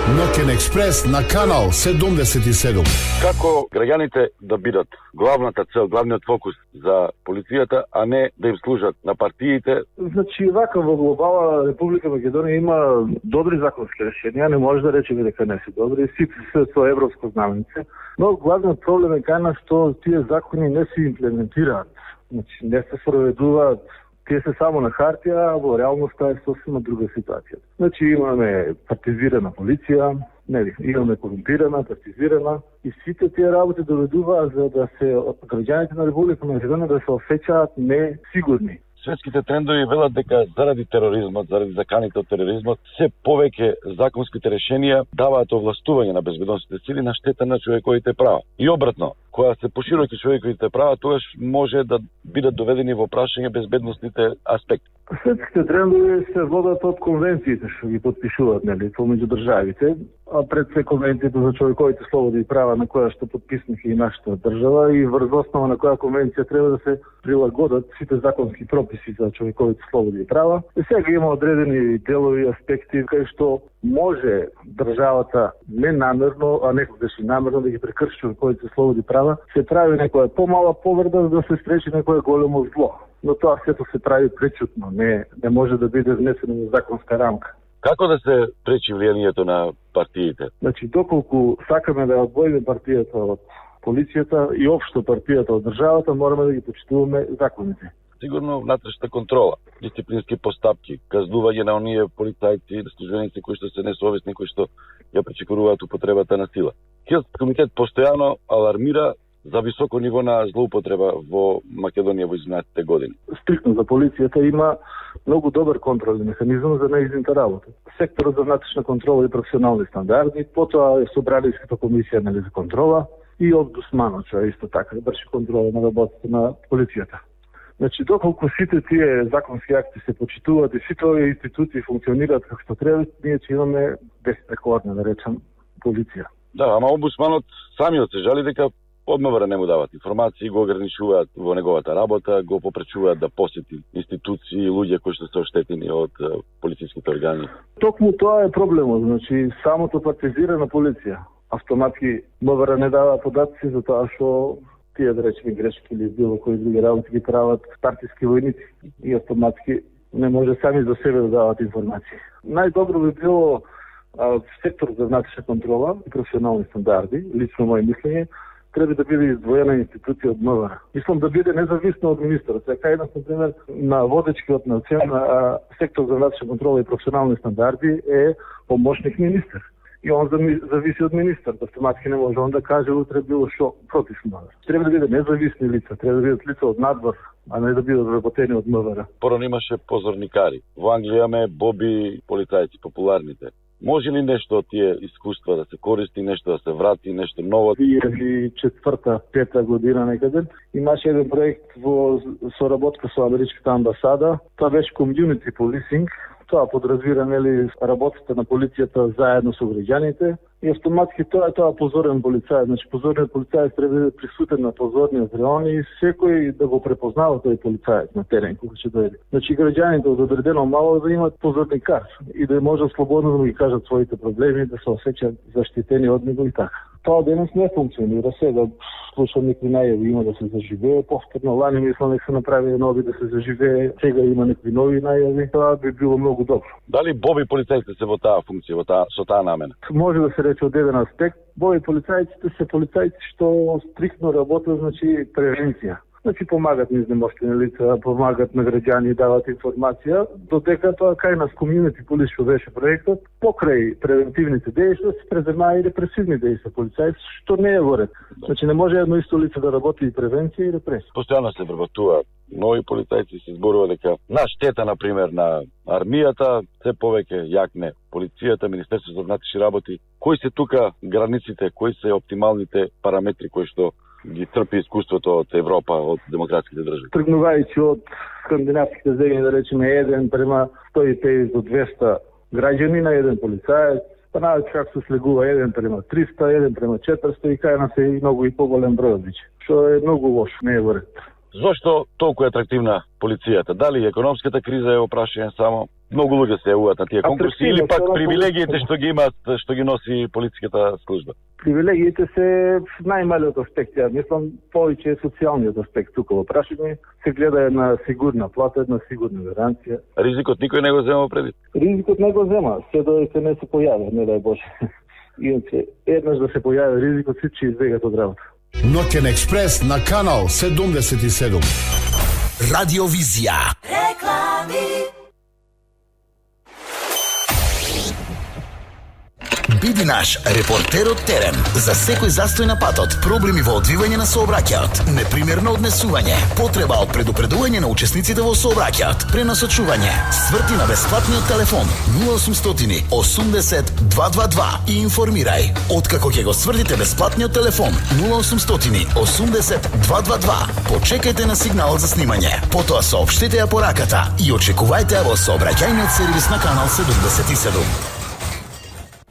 Ноќен експрес на канал седумдесет и седум. Како граѓаните да бидат главната цел, главниот фокус за полицијата, а не да им служат на партиите? Значи, вака во глобала Република Македонија има добри законски решенија, не може да речеме дека не се добри, сите се со европско знаменце, но главниот проблем е кај нас што тие закони не се имплементираат. Значи, не се спроведуваат. Тие се само на хартија, а во реалноста е сосема друга ситуација. Значи имаме партизирана полиција, нели, имаме корумпирана, партизирана и сите тие работи доведуваат за да се граѓаните на Република Македонија да се осеќаат несигурни. Светските трендови велат дека заради тероризмот, заради заканите од тероризмот, се повеќе законските решенија даваат овластување на безбедносните сили на штета на човековите права. И обратно, кога се пошироки човековите права, тогаш може да бидат доведени во прашање безбедносните аспекти. Светските трендови се водат од конвенциите што ги подпишуваат, нели, помеѓу државите, а пред се конвенцијата за човековите слободи и права на која што подписнаха и нашата држава и врз основа на која конвенција треба да се прилагодат сите законски прописи за човековите слободи и права. И сега има одредени делови, аспекти кај што може државата не намерно, а некогаш и намерно да ги прекрши своите слободи права, се прави некоја помала повреда за да се спречи некое големо зло. Но тоа сето се прави пречутно, не, не може да биде внесено во законска рамка. Како да се пречи влијанието на партиите? Значи, доколку сакаме да одвоиме партијата од полицијата и општо партијата од државата, мораме да ги почитуваме законите. Сигурно внатрешна контрола, дисциплински постапки, казнување на оние полицајци и службеници кои што се несовесни, кои што ја пречекоруваат употребата на сила. Хилски комитет постојано алармира за високо ниво на злоупотреба во Македонија во изминатите години. Стриктно за полицијата има многу добар контролни механизам за неизната работа. Секторот за внатрешна контрола и професионални стандарди, потоа е Собранијската комисија нели за контрола и омбудсманот, што исто така врши контрола на работата на полицијата. Значи, доколку сите тие законски акти се почитуваат и сите овие институции функционираат како што треба, ние ќе имаме безпрекорна, да речам, полиција. Да, ама омбудсманот самиот се жали дека од МВР не му дават информации, го ограничуваат во неговата работа, го попречуваат да посети институции и луѓе кои што се оштетени од полициските органи. Токму тоа е проблемот, значи самото партизирана полиција. Автоматски МВР не дава податци за тоа што тие, да речеме, грешки или било кои други работи ги прават партиски војници и автоматски не може сами за себе да дават информации. Најдобро би било а, сектор за внатрешна контрола и професионални стандарди, лично моје мислење, треба да биде издвоена институција од МВР. Мислам да биде независна од министерот. Така еднаш, например, на водечкиот на цена сектор за внатрешна контрола и професионални стандарди е помошник министер. И он зависи од министерот. Автоматски не може он да каже утре било што против МВР. Треба да биде независни лица, треба да бидат лица од надвор, а не да бидат работени од МВР. Порано имаше позорникари. Во Англија имаме боби полицајци, популарните. Може ли нешто од тие искуства да се користи, нешто да се врати, нешто ново? две илјади и четврта пета година некаде имаше еден проект во соработка со Америчката амбасада. Тоа беше community policing. Тоа подразбира нели работата на полицијата заедно со граѓаните и автоматски тоа е тоа позорен полицај. Значи позорниот полицај треба да е присутен на позорниот реон и секој да го препознава тој полицаец на терен кога ќе дојде. Значи граѓаните од одредено мало да имат позорникар и да може слободно да ги кажат своите проблеми, да се осеќаат заштитени од него и така. Тоа денес не функционира. Сега слушам некои најави има да се заживее, повторно лани мислам дека се направи нови да се заживее, сега има некои нови најави. Тоа би било многу добро. Дали боби полицајците се во таа функција, во таа со таа намена? Може да се рече од еден аспект, боби полицајците се полицајци што стриктно работат, значи превенција. Значи помагат на изнемоштени лица, помагат на граѓани, дават информација, додека тоа кај нас community police што беше проектот, покрај превентивните дејства се преземаа и репресивни дејства полицајци, што не е во ред. Значи не може едно исто лице да работи и превенција и репресија. Постојано се вработуваат нови полицајци, се зборува дека на штета, например, на армијата, се повеќе јакне полицијата, Министерството за внатрешни работи. Кои се тука границите, кои се оптималните параметри кои што ги трпи искуството од Европа, од демократските држави? Тргнувајќи од скандинавските земји, да речеме, еден према сто и педесет до двеста граѓани на еден полицаец, па најават како се слегува еден према триста, еден према четириста и кај нас е и многу и поголем број од што е многу лошо, не е во ред. Зошто толку е атрактивна полицијата? Дали економската криза е опрашање само? Многу луѓе се јавуваат на тие конкурси или пак привилегиите што ги имаат, што ги носи полициската служба? Привилегиите се најмалиот аспект, ја мислам повеќе е социјалниот аспект тука во прашање. Се гледа една сигурна плата, една сигурна гаранција. Ризикот никој не го зема предвид? Ризикот не го зема, се додека не се појави, не дај Боже. Иначе еднаш да се појави ризикот, сите ќе избегат од работа. Ноќен експрес на канал седумдесет и седум. Радиовизија. Реклами. Биди наш репортер од терен за секој застој на патот, проблеми во одвивање на сообраќајот, непримерно однесување, потреба од предупредување на учесниците во сообраќајот, пренасочување, сврти на бесплатниот телефон нула осумстотини осумдесет дваесет дваесет два и информирај. Откако ќе го свртите бесплатниот телефон нула осумстотини осумдесет дваесет дваесет два, почекајте на сигналот за снимање, потоа соопштете ја пораката и очекувајте во сообраќајниот сервис на канал седумдесет и седум.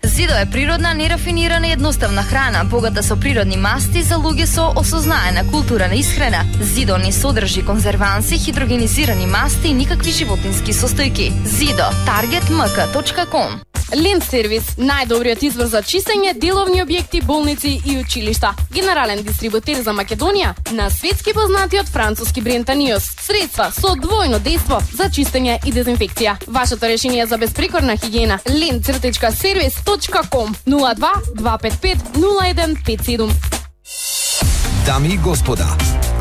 Зидо е природна, нерафинирана и едноставна храна, богата со природни масти за луѓе со осознаена култура на исхрана. Зидо не содржи конзерванси, хидрогенизирани масти и никакви животински состојки. Зидо, таргет ем ка точка ком. Лент сервис, најдобриот избор за чистење, деловни објекти, болници и училишта. Генерален дистрибутер за Македонија на светски познатиот француски бренд Аниос. Средства со двојно дејство за чистење и дезинфекција. Вашето решение за безпрекорна хигиена. лент сервис точка ком нула два два пет пет нула еден пет седум. Дами и господа,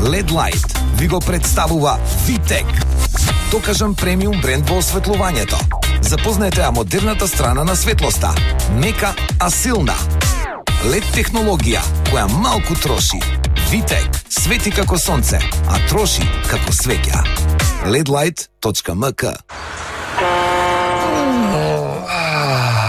Лед Light ви го представува Витек. Докажан премиум бренд во осветлувањето. Запознаете ја модерната страна на светлоста. Мека, а силна. Лед технологија, која малку троши. Витек, свети како сонце, а троши како свеќа. лед лайт точка ем ка.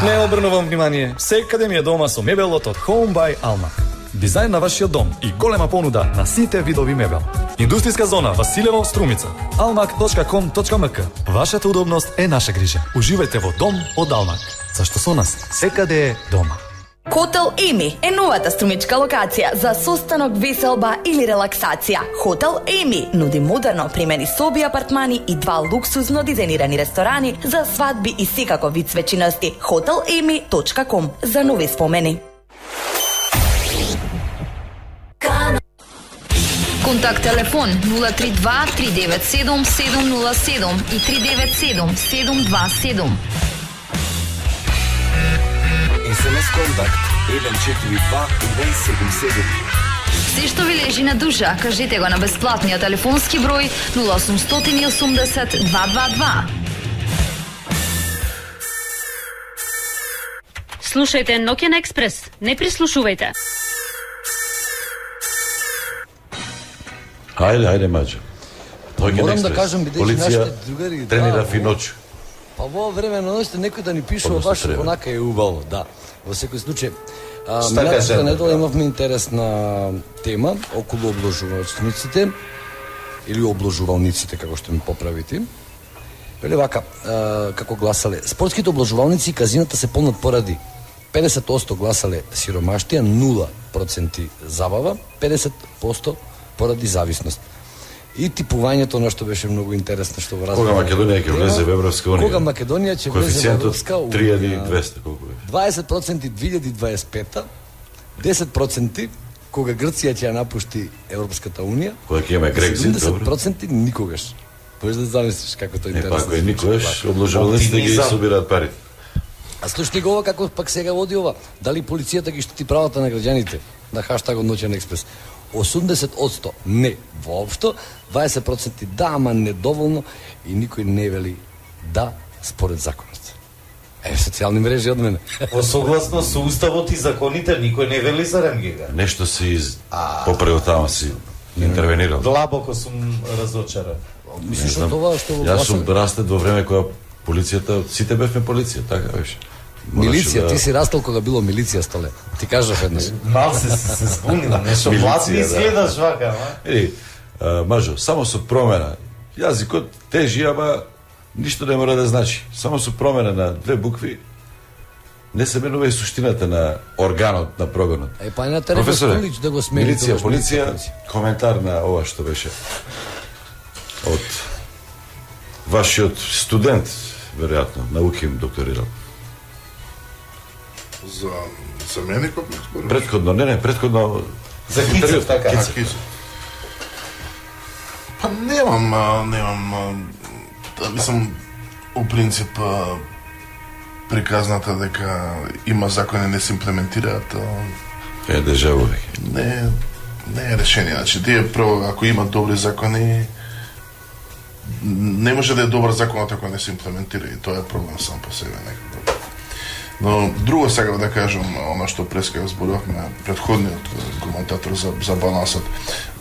Не обрнувам внимание, секаде ми е дома со мебелот од Home by Almac. Дизајн на вашиот дом и голема понуда на сите видови мебел. Индустријска зона Василево, Струмица. алмак точка ком точка ем ка. Вашата удобност е наша грижа. Уживајте во дом од Алмак. Зашто со нас секаде е дома. Хотел Еми е новата струмичка локација за состанок, веселба или релаксација. Хотел Еми нуди модерно опремени соби, апартмани и два луксузно дизајнирани ресторани за свадби и секако вид свечиности. хотел еми точка ком за нови спомени. Контакт телефон нула три два три девет седум седум нула седум и три девет седум седум два седум. ес ем ес контакт еден четири два еден седум седум. Се што ви лежи на душа, кажете го на бесплатниот телефонски број нула осумстотини и осумдесет два два два. Слушајте Нокен Експрес, не прислушувајте. Хајде, хајде, Маđo. Морам да кажам, бидејќи нашите другари тренира финоќ. Па во време на ноќта некој да ни пишува баш онака е убаво, да. Во секој случај. Минатата недела имавме интересна тема околу обложувачниците или обложувалниците, како што ми поправите. Вели вака, како гласале, спортските обложувалници и казината се полнат поради педесет проценти гласале сиромаштија, нула проценти забава, педесет проценти поради зависност. И типувањето, на што беше многу интересно, што во Кога Македонија ќе влезе во Европска унија? Кога Македонија ќе влезе во Европска унија? три илјади и двесте, колку беше? дваесет проценти две илјади дваесет и пета, десет проценти кога Грција ќе ја напушти Европската унија. Кога ќе имаме Грекзит, добро. седумдесет проценти никогаш. Можеш да замислиш како тоа е интересно. Е, па ако е никогаш, обложувалниците ги собираат парите. А слушни го ова како пак сега води ова. Дали полицијата ги штити правата на граѓаните? На хаштагот Ноќен експрес. осумдесет проценти не воопшто, дваесет проценти да, ама недоволно и никој не вели да според законот. Е, социјални мрежи од мене. Согласно со уставот и законите, никој не вели за Ремгега. Нешто си из... поправил тама си интервенирал. Длабоко сум разочаран. Мислиш од това што... Јас сум растет во време кога полицијата, сите бевме полиција, така беше. Милиција, да... ти си растал кога било милиција, Столе. Ти кажав еднаш. Мал се се збунила, нешто власт ми изгледаш вака, ма. Ели, Маđo, само со промена. Јазикот тежи, ама ништо не мора да значи. Само со промена на две букви не се менува и суштината на органот на прогонот. Е, па на Тереф Стулич да го смени. Милиција, полиција, коментар на ова што беше од вашиот студент, веројатно, науким докторирал. За, за мене како според? Предходно, не, не, предходно... За Кицев, така. Кицев. Кицев. Па немам, а, немам... А, да, мислам, у принцип, а, приказната дека има закони не се имплементираат... А, е, дежаву веќе. Не, не е решение. Значи, тие прво, ако има добри закони, не може да е добар законот ако не се имплементира и тоа е проблем сам по себе некако. Но друго сега да кажам, оно што преска зборувавме предходниот коментатор за, за балансот.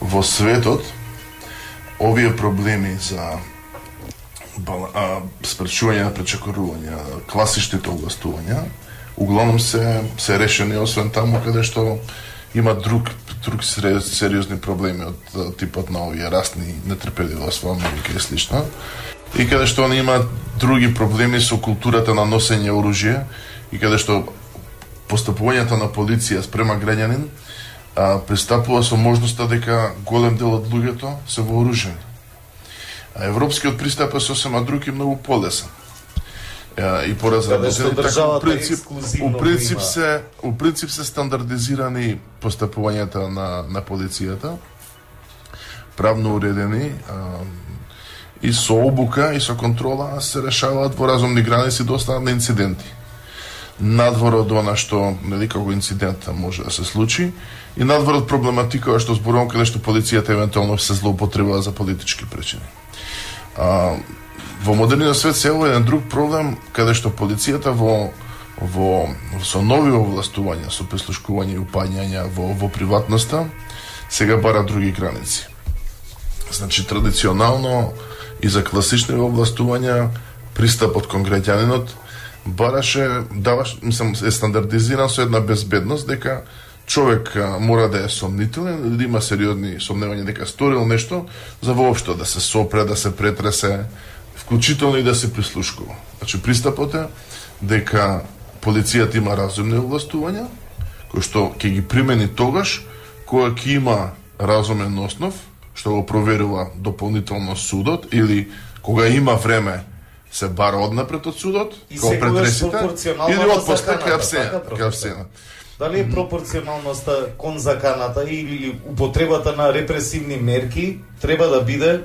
Во светот, овие проблеми за спречување на пречекорување, класичните областувања, углавном се, се решени, освен таму каде што има друг, друг сериозни проблеми од типот на овие расни нетрпеливост во Америка и слично. И каде што они имаат други проблеми со културата на носење оружје, и каде што постапувањето на полиција спрема граѓанин а, пристапува со можноста дека голем дел од луѓето се вооружени. А европскиот пристап е сосема друг и многу полесен. и поразработени, така у принцип, у принцип има. се у принцип се стандардизирани постапувањата на на полицијата, правно уредени, а, и со обука и со контрола се решаваат во разумни граници доста на инциденти. Надвор од она што нели како инцидент може да се случи и надвор од проблематика што зборувам каде што полицијата евентуално се злоупотребува за политички причини. А, во модерниот свет се еден друг проблем каде што полицијата во во со нови овластувања, со прислушкување и упаѓања во во приватноста сега бара други граници. Значи традиционално и за класични овластувања пристапот кон граѓанинот бараше, даваш, мислам, е стандардизиран со една безбедност дека човек а, мора да е сомнителен или да има сериозни сомневања дека сторил нешто за воопшто да се сопре, да се претресе, вклучително и да се прислушкува. Значи пристапот е дека полицијата има разумни овластувања кои што ќе ги примени тогаш кога ќе има разумен основ што го проверува дополнително судот или кога има време се бара однапред од судот, кога претресите, или отпуста кај абсена. Дали е пропорционалноста кон заканата или употребата на репресивни мерки треба да биде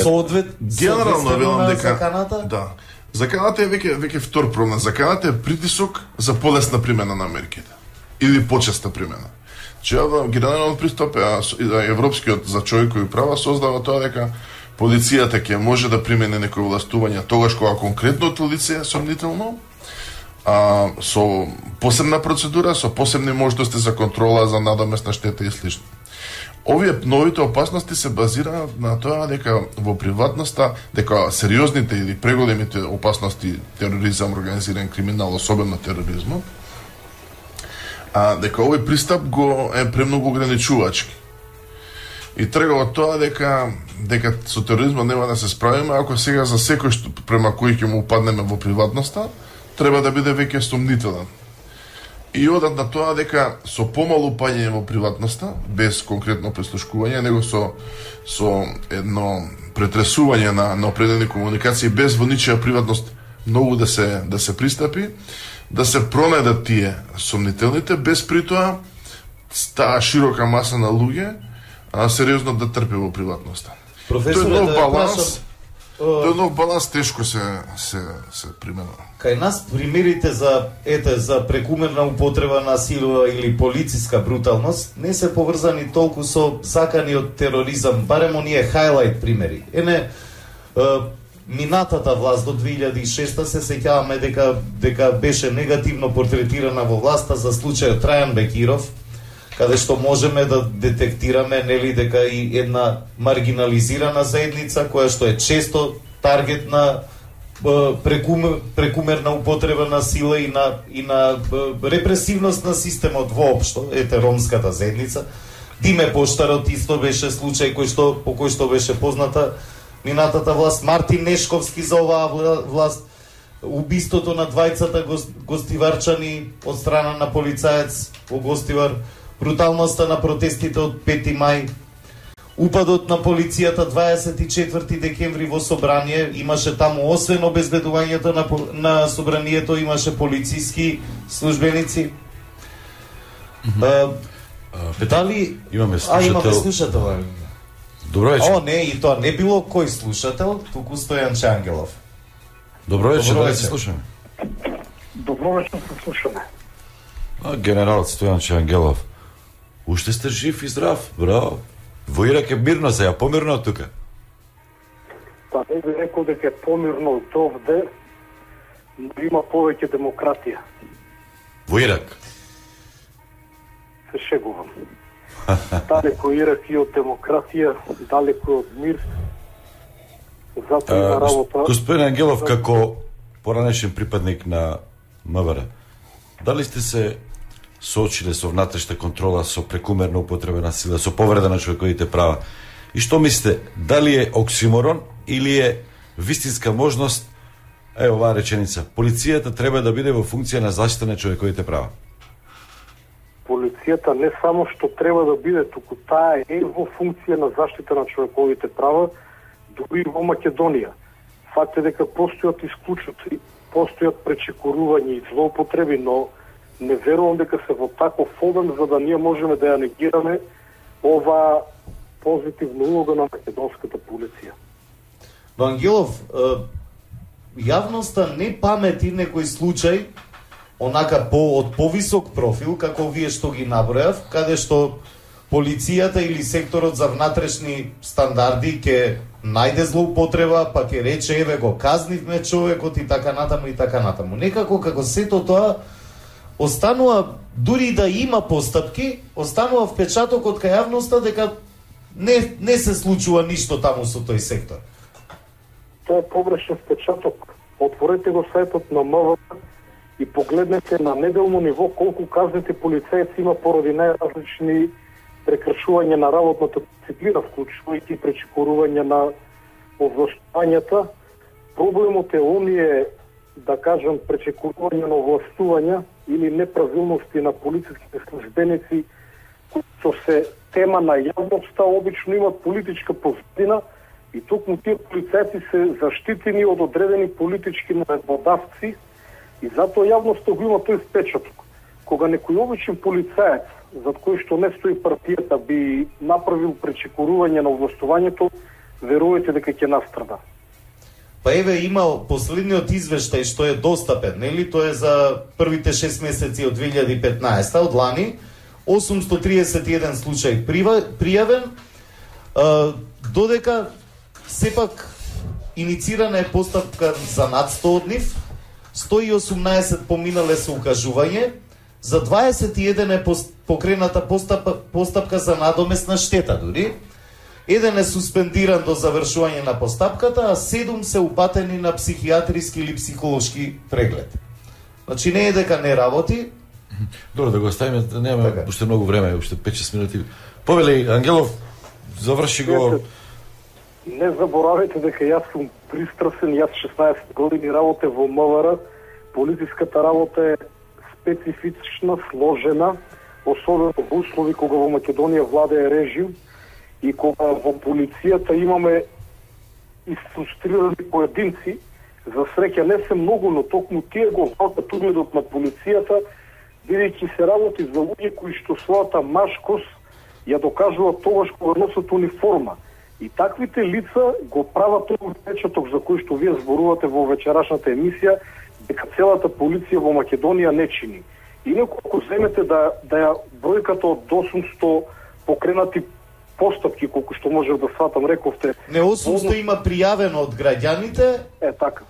соодвет генерално велам дека заканата? Да. Заканата е веќе веќе втор проблем. Заканата е притисок за полесна примена на мерките или почеста примена. Че генерален пристап европскиот за човекови права создава тоа дека полицијата ќе може да примени некои властувања тогаш кога конкретното лице е сомнително, а, со посебна процедура, со посебни можности за контрола, за надоместна штета и слично. Овие новите опасности се базираат на тоа дека во приватноста, дека сериозните или преголемите опасности, тероризам, организиран криминал, особено тероризмот, а дека овој пристап го е премногу ограничувачки. И трга од тоа дека дека со тероризмот нема да се справиме ако сега за секој што према кој ќе му упаднеме во приватноста, треба да биде веќе сомнителен. И одат на тоа дека со помало упаѓање во приватноста, без конкретно прислушкување, него со со едно претресување на на определени комуникации без во ничија приватност многу да се да се пристапи, да се пронајдат тие сомнителните без притоа таа широка маса на луѓе а сериозно да трпи во приватноста. Професор, тој нов да баланс, прашам, тој нов баланс тешко се се се применува. Кај нас примерите за ете за прекумерна употреба на сила или полициска бруталност не се поврзани толку со закани од тероризам, барем оние хайлайт примери. Ене е, минатата власт до две илјади и шеста се сеќаваме дека дека беше негативно портретирана во власта за случајот Трајан Бекиров, каде што можеме да детектираме нели дека и една маргинализирана заедница која што е често таргет на прекумер, прекумерна употреба на сила и на и на репресивност на системот воопшто, ете ромската заедница. Диме Поштарот исто беше случај кој што по кој што беше позната минатата власт. Мартин Нешковски за оваа власт, убиството на двајцата гостиварчани од страна на полицаец во Гостивар, бруталноста на протестите од пети мај, упадот на полицијата дваесет и четврти декември во собрание, имаше таму освен обезбедувањето на, на собранието, имаше полициски службеници. Mm-hmm. а, дали... Имаме слушател... А, имаме слушател. Добро вечер. О, не, и тоа не било кој слушател, туку Стојан Чангелов. Добро вечер, да се слушаме. Добро вечер, се слушаме. А, генерал Стојан Чангелов, уште сте жив и здрав, браво. Во Ирак е мирно сега, помирно од тука. Па не би рекол дека е помирно од овде, но има повеќе демократија. Во Ирак? Се шегувам. Далеко Ирак и од демократија, далеко од мир. Затоа има работа... Господин Ангелов, како поранешен припадник на МВР, дали сте се соочиле со внатрешна контрола, со прекумерна употреба на сила, со повреда на човековите права? И што мислите, дали е оксиморон или е вистинска можност, е оваа реченица, полицијата треба да биде во функција на заштита на човековите права? Полицијата не само што треба да биде, туку таа е во функција на заштита на човековите права, дури во Македонија. Факт е дека постојат исклучоци, постојат пречекорувања и злоупотреби, но не верувам дека се во таков обем за да ние можеме да ја негираме ова позитивна улога на македонската полиција. Но Ангелов, јавноста не памети некој случај онака по од повисок профил, како вие што ги набројав, каде што полицијата или секторот за внатрешни стандарди ќе најде злоупотреба, па ќе рече еве го казнивме човекот и така натаму и така натаму. Некако како сето тоа останува, дури да има постапки, останува впечатокот кај јавноста дека не не се случува ништо таму со тој сектор. Тоа е погрешен впечаток. Отворете го сајтот на МВР и погледнете на неделно ниво колку казните полицајци има поради најразлични прекршување на работната дисциплина, вклучувајќи пречекорување на овластувањата. Проблемот е оние, да кажам, пречекорување на овластувања или неправилности на полициските службеници, кои се тема на јавноста, обично имат политичка позадина и токму тие полицајци се заштитени од одредени политички наредбодавци и затоа јавноста го има тој впечаток. Кога некој обичен полицаец, зад кој што не стои партијата, би направил пречекорување на овластувањето, верувате дека ќе настрада. Па еве има последниот извештај што е достапен, нели? Тоа е за првите шест месеци од две илјади и петнаесета, од лани, осумстотиресет триесет и еден случај пријавен, додека сепак иницирана е постапка за над сто од нив, сто и осумнаесет поминале со укажување, за дваесет и еден е покрената постапка, постапка за надомесна штета дури. Еден е суспендиран до завршување на постапката, а седум се упатени на психијатриски или психолошки преглед. Значи не е дека не работи. Добро, да го оставиме, немаме така. Уште многу време, уште пет-шест минути. Повели, Ангелов, заврши го. Не заборавајте дека јас сум пристрасен, јас шеснаесет години работе во МВР. Полициската работа е специфична, сложена, особено во услови кога во Македонија владее режим и кога во полицијата имаме изфрустрирани поединци. За среќа не се многу, но токму тие го валкат угледот на полицијата, бидејќи се работи за луѓе кои што својата машкост ја докажуваат тогаш кога носат униформа. И таквите лица го прават тој впечаток за кој што вие зборувате во вечерашната емисија, дека целата полиција во Македонија не чини. Инаку ако земете да, да ја бројката од осумсто покренати постапки, колку што можев да сватам, рековте... Не, осумсто има пријавено од граѓаните. Е, така.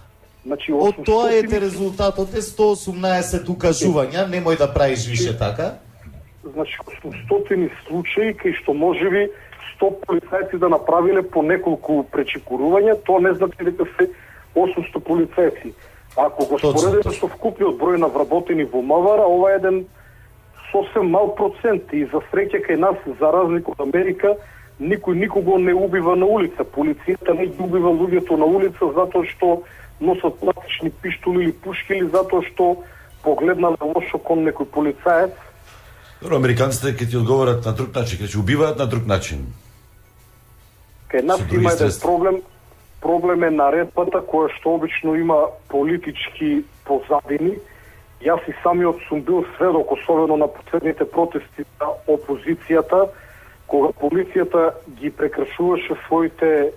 Значи, од тоа е резултатот е сто осумнаесет укажувања, немој да правиш више така. Значи, осумстотини случаи, кај што можеби сто полицајци да направиле по неколку пречекорувања, тоа не значи дека се осумсто полицајци. Ако го споредиме со вкупниот број на вработени во МВР, ова е еден сосем мал процент и за среќа кај нас, за разлика од Америка, никој никого не убива на улица. Полицијата не ги убива луѓето на улица затоа што носат пластични пиштоли или пушки или затоа што погледнале лошо кон некој полицаец. Добро, американците ќе ти одговорат на друг начин, ќе ќе убиваат на друг начин. Кај нас има еден проблем, проблем е наредбата која што обично има политички позадини. Јас и самиот сум бил сведок, особено на последните протести на опозицијата, кога полицијата ги прекршуваше своите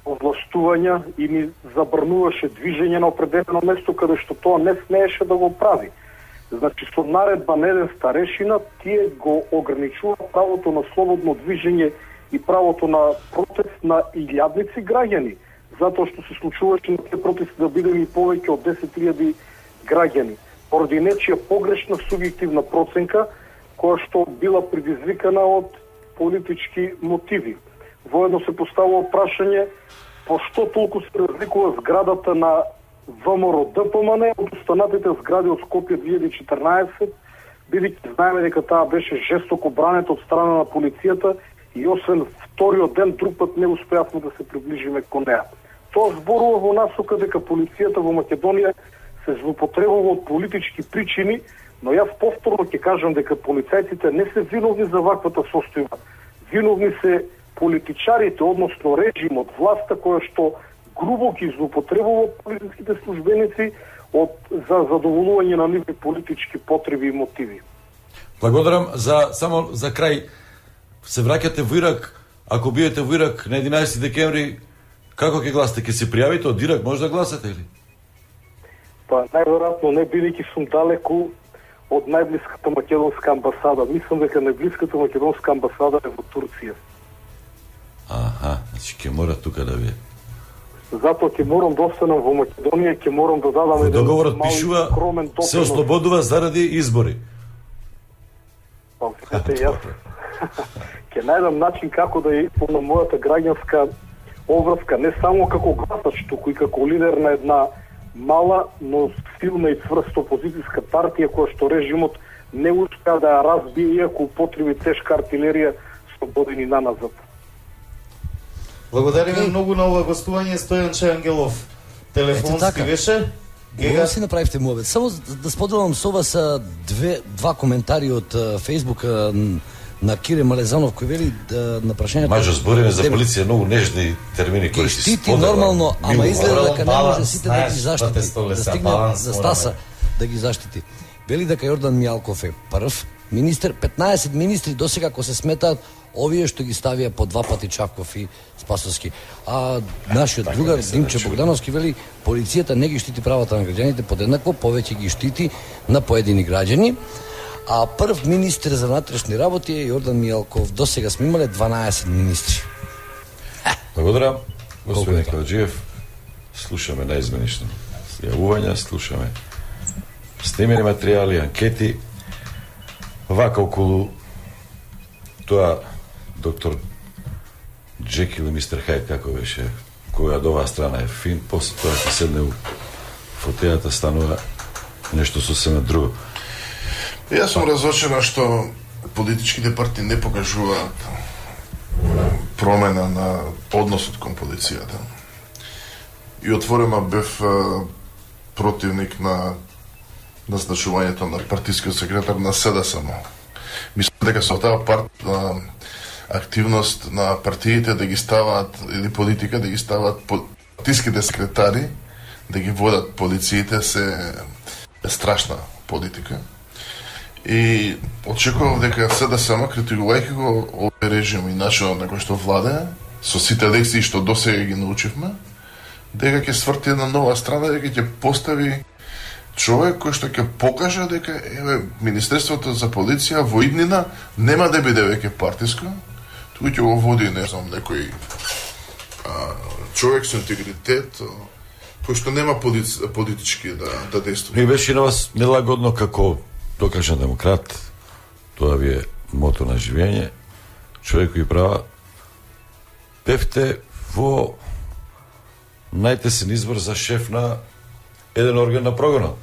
овластувања и ни забрануваше движење на определено место каде што тоа не смееше да го прави. Значи, со наредба на еден старешина, тие го ограничува правото на слободно движење и правото на протест на илјадници граѓани, затоа што се случуваше на тие протести да бидеме и повеќе од десет илјади граѓани. Поради нечија погрешна субјективна проценка, која што била предизвикана од политички мотиви. Воедно се поставува прашање пошто толку се разликува зградата на ВМРО Д П М Н од останатите згради од Скопје две илјади и четрнаесет, бидејќи знаеме дека таа беше жестоко бранета од страна на полицијата и освен вториот ден друг пат не успеавме да се приближиме кон неа. Тоа зборува во насока дека полицијата во Македонија се злоупотребува од политички причини, но јас повторно ќе кажам дека полицајците не се виновни за ваквата состојба. Виновни се политичарите, односно режимот, власта која што грубо ги злоупотребува полициските службеници од за задоволување на нивни политички потреби и мотиви. Благодарам за само за крај. Се враќате во Ирак, ако биете во Ирак на единаесети декември, како ќе гласате? Ќе се пријавите од Ирак, може да гласате или? Па најверојатно не, бидејќи сум далеку од најблиската македонска амбасада. Мислам дека најблиската македонска амбасада е во Турција. Аха, значи ќе мора тука да биде. Затоа ќе морам да останам во Македонија, ќе морам да дадам еден договорот пишува се ослободува заради избори. Па, знаете, јас ќе најдам начин како да исполнам мојата граѓанска обврска, не само како гласач, туку и како лидер на една мала, но силна и цврста опозицијска партија која што режимот не успеа да ја разбие, иако употреби тешка артилерија со години наназад. Благодариме многу на ова гостување, Стојанче Ангелов. Телефонски беше? Гега си направивте муабет. Само да споделам со вас две два коментари од Фејсбук на Кире Малезанов кој вели да, на прашањето. Мажо збориме за полиција многу нежни термини кои се штити нормално, ама изгледа дека не може сите да ги заштити, да стигне за Стаса да ги заштити. Вели дека Јордан Мијалков е прв министер, петнаесет министри досега ако се сметаат овие што ги ставија по два пати Чапков и Спасовски. А нашиот другар Димче Богдановски вели полицијата не ги штити правата на граѓаните подеднакво, повеќе ги штити на поедини граѓани. А прв министер за внатрешни работи е Јордан Мијалков. До сега сме имале дванаесет министри. Благодарам, господин Каладжиев. Слушаме наизменично јавувања, слушаме снимени материјали, анкети. Вака околу тоа доктор Джекил и мистер Хајд, како беше, која од оваа страна е фин, после тоа ќе седне у фотејата, станува нешто сосема друго. Јас сум разочаран што политичките партии не покажуваат промена на односот кон полицијата. И отворено бев противник на назначувањето на партискиот секретар на СДСМ. Мислам дека со таа парт активност на партиите да ги ставаат или политика да ги ставаат партиските секретари да ги водат полициите се е страшна политика. И очекував дека СДСМ, критикувајќи го овој режим и начинот на кој што владее, со сите лекции што досега ги научивме, дека ќе сврти една нова страна, дека ќе постави човек кој што ќе покаже дека еве Министерството за полиција во иднина нема да биде веќе партиско, туку ќе го води, не знам, некој а, човек со интегритет, кој што нема полици, политички да, да действува. Ми беше на вас нелагодно како докажан демократ, тоа ви е мото на живење, човекови права, бевте во најтесен избор за шеф на еден орган на прогонот.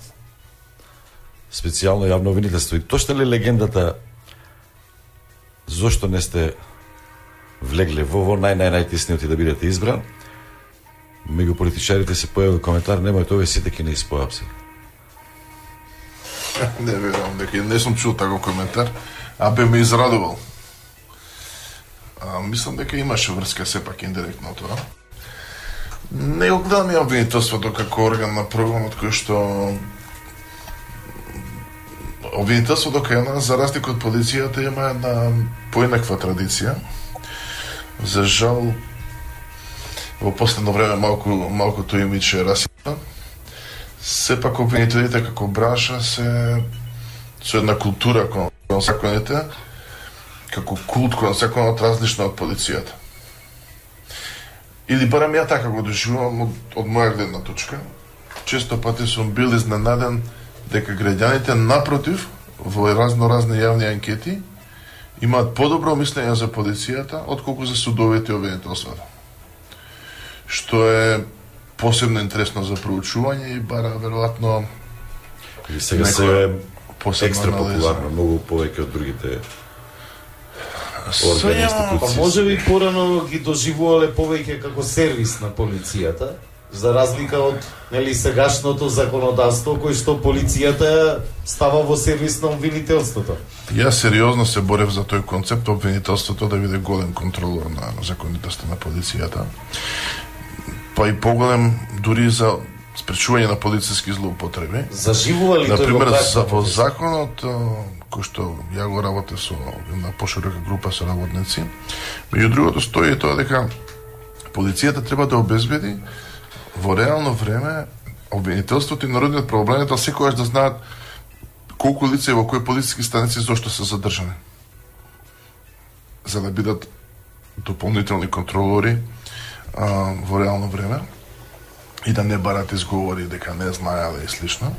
Специјално јавно обвинителство. И точно ли легендата зошто не сте влегле во во нај-нај-најтесниот и да бидете избран? Меѓу политичарите се појави коментар, немојте овие сите ќе не испојапси. Не верувам дека не сум чул таков коментар, а бе ме израдувал. А, мислам дека имаше врска сепак индиректно тоа. Не го гледам ја обвинителството како орган на прогонот кој што обвинителството кај нас, за разлика од полицијата, има една поинаква традиција. За жал, во последно време малку малку тој имидж е расипан. Сепак обвинителите како бранша се со една култура кон законите, како култ кон законот различна од полицијата. Или барем ја така го доживувам од, од моја гледна точка. Често пати сум бил изненаден дека граѓаните напротив во разно-разни јавни анкети имаат подобро мислење за полицијата отколку за судовите и обвинителствата. Што е посебно интересно за проучување и бара веројатно и сега се е екстра популарно, многу повеќе од другите органи, институции. Па може би порано ги доживувале повеќе како сервис на полицијата, за разлика од нели сегашното законодавство кој што полицијата става во сервис на обвинителството. Јас сериозно се борев за тој концепт обвинителството да биде голем контролор на законитоста на полицијата. па и поголем дури за спречување на полициски злоупотреби. Заживува ли тој например за во законот кој што ја го работе со на поширока група со работници. Меѓу другото стои тоа дека полицијата треба да обезбеди во реално време обвинителството и народниот правобранител секогаш да знаат колку лица во кои полициски станици зошто се задржани. За да бидат дополнителни контролори а, во реално време и да не барат изговори дека не знаеле и слично.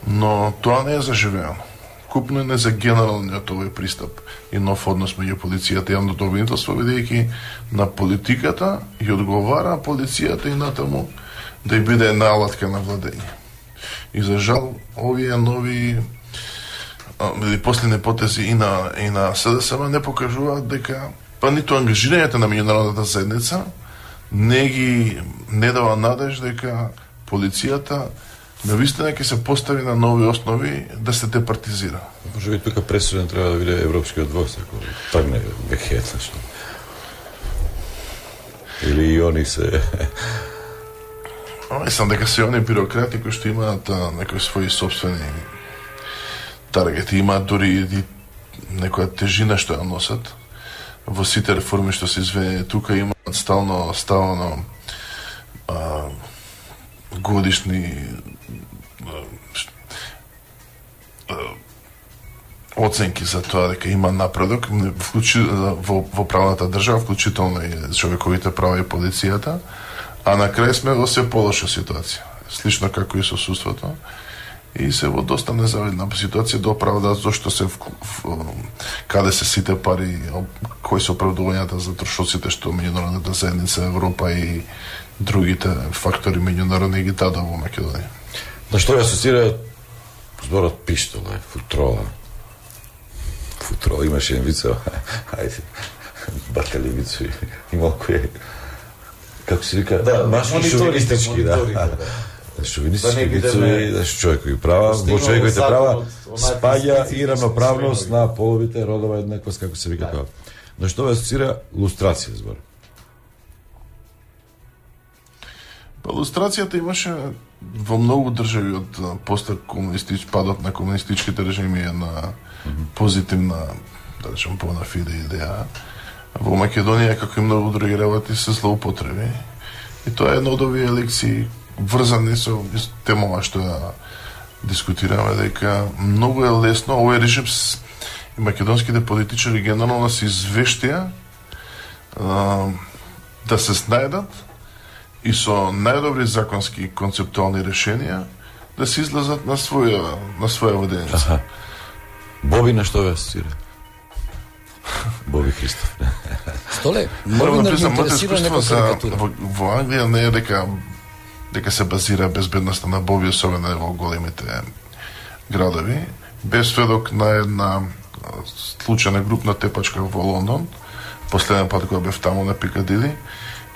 Но тоа не е заживено. Купно не за генералниот овој пристап и нов однос меѓу полицијата и јавното обвинителство, бидејќи на политиката и одговара полицијата и натаму да ја биде една алатка на владење. И за жал, овие нови или последни потези и на, и на СДСМ не покажуваат дека па ниту ангажирањето на меѓународната заедница не ги не дава надеж дека полицијата навистина ќе се постави на нови основи да се департизира. Може би тука пресуден треба да биде Европскиот двор, ако тргне вехет, или и они се... Мислам дека се они бюрократи кои што имаат некои своји собствени таргети, имаат дури и некоја тежина што ја носат. Во сите реформи што се изведени тука имаат стално ставано а, годишни а, оценки за тоа дека има напредок вклучи, во, во правната држава, вклучително и човековите права и полицијата, а на крај сме во се полоша ситуација, слично како и со судството, и се во доста незавидна ситуација да оправдаат зашто се в, в, каде се сите пари, кои се оправдувањата за трошоците што меѓународната заедница Европа и другите фактори меѓународни ги дадат во Македонија. На што ја асоцира зборот пиштола, футрола. Футрола имаше еден вице, ајде, батали вицу и малку е, како се вика, да, машки шовинистички, да. Шовинистички вицови, да што човекови права, во човековите права спаѓа и равноправност на половите, родова еднаквост, како се вика тоа. На што ја асоцира лустрација збор? Па лустрацијата имаше во многу држави од после комунистич, падот на комунистичките режими на позитивна, да речем, bona fide идеја. Во Македонија, како и многу други работи, се злоупотреби. И тоа е една од овие лекции врзани со темова што ја дискутираме, дека многу е лесно овој режим и македонските политичари генерално се извештија да се снајдат и со најдобри законски концептуални решенија да се излезат на своја на своја воденица. Боби на што ве асоцира? Боби Христов. Столе, новинар ми интересира нека карикатура. Во, во Англија не е дека дека се базира безбедноста на Боби, особено во големите градови. Без сведок на една случајна групна тепачка во Лондон, последен пат кога бев таму на Пикадили,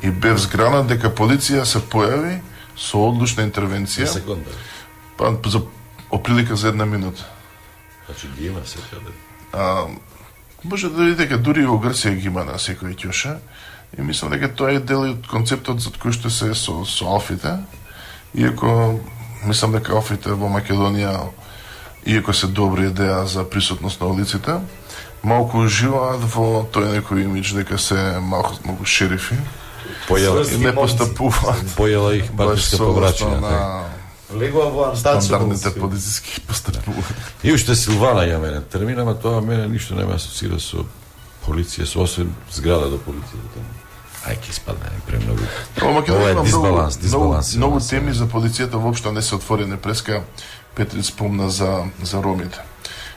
и бев згранат дека полиција се појави со одлучна интервенција. За секунда. Па за оприлика за една минута. Значи ги има секаде. А може да видите дека дури во Грција ги има на секој ќоша. И мислам дека тоа е дел од концептот за кој што се со, со алфите. Иако мислам дека алфите во Македонија, иако се добра идеја за присутност на улиците, малку уживаат во тој некој имидж дека се малку, малку шерифи. Појела и не постапуваат. Појела их партиска поврачина. На... Легува во стандардните полициски постапувања. И уште Силвана ја мене термин, ама тоа мене ништо не ме асоцира со полиција, со освен зграда до полицијата. Ај ке испадне премногу. Ова е дисбаланс, дисбаланс. Многу теми за полицијата воопшто не се отворени. Преска Петрин спомна за за ромите.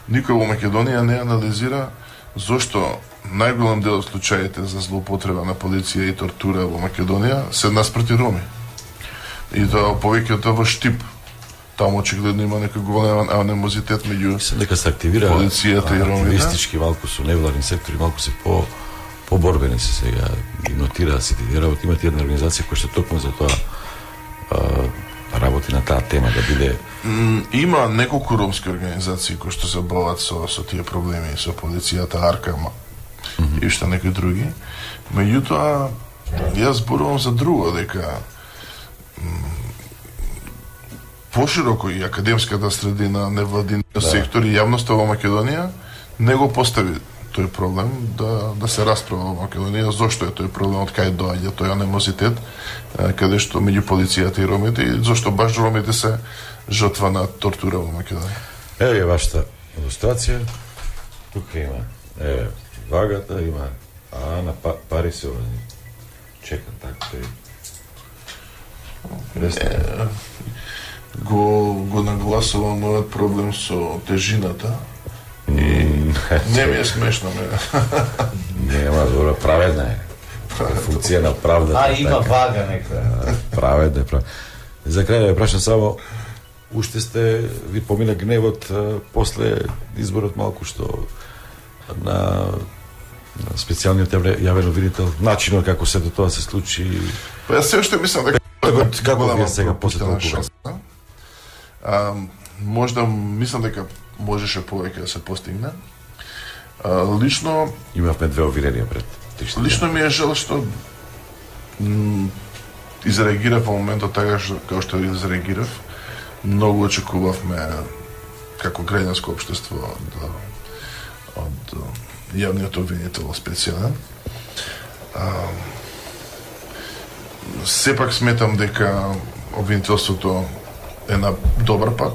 Никој во Македонија не анализира зошто најголем дел од случаите за злоупотреба на полиција и тортура во Македонија се наспроти роми. И тоа повеќето во Штип. Таму очигледно има некој голем анимозитет меѓу дека се активира полицијата и ромите. Активистички малку со невладни сектори, малку се по поборбени се сега, ги нотираат сите тие работи. Имате една организација која што токму за тоа а, работи на таа тема да биде. Има неколку ромски организации кои што се бават со со тие проблеми со полицијата, Аркама mm -hmm. и што некои други. Меѓутоа, јас зборувам за друго, дека пошироко и академската средина, невладиниот да. сектор и јавноста во Македонија не го постави тој проблем да да се расправа во Македонија зошто е тој проблем, од кај доаѓа тој анимозитет каде што меѓу полицијата и ромите и зошто баш ромите се жртва на тортура во Македонија. Еве е вашата илустрација. Тука има е вагата, има а на па, пари се овде. Чека така тој. Не, го го нагласувам овој проблем со тежината. И не ми е смешно мене. Нема, добро, праведна е. Функција на правдата. А, има така. Вага нека. Праведна е, праведна. За крај да ја прашам само, уште сте, ви помина гневот а, после изборот малку што на, на специјалниот јавен обвинител, начинот како се до тоа се случи. Па јас се уште мислам дека како како вие сега после толку а, можда мислам дека можеше повеќе да се постигне. А, лично имавме две обвиненија пред тиште. Лично ми е жал што м, изреагирав во моментот така што како што изреагирав. Многу очекувавме како граѓанско општество од од јавниот обвинител специјален. А, сепак сметам дека обвинителството е на добар пат.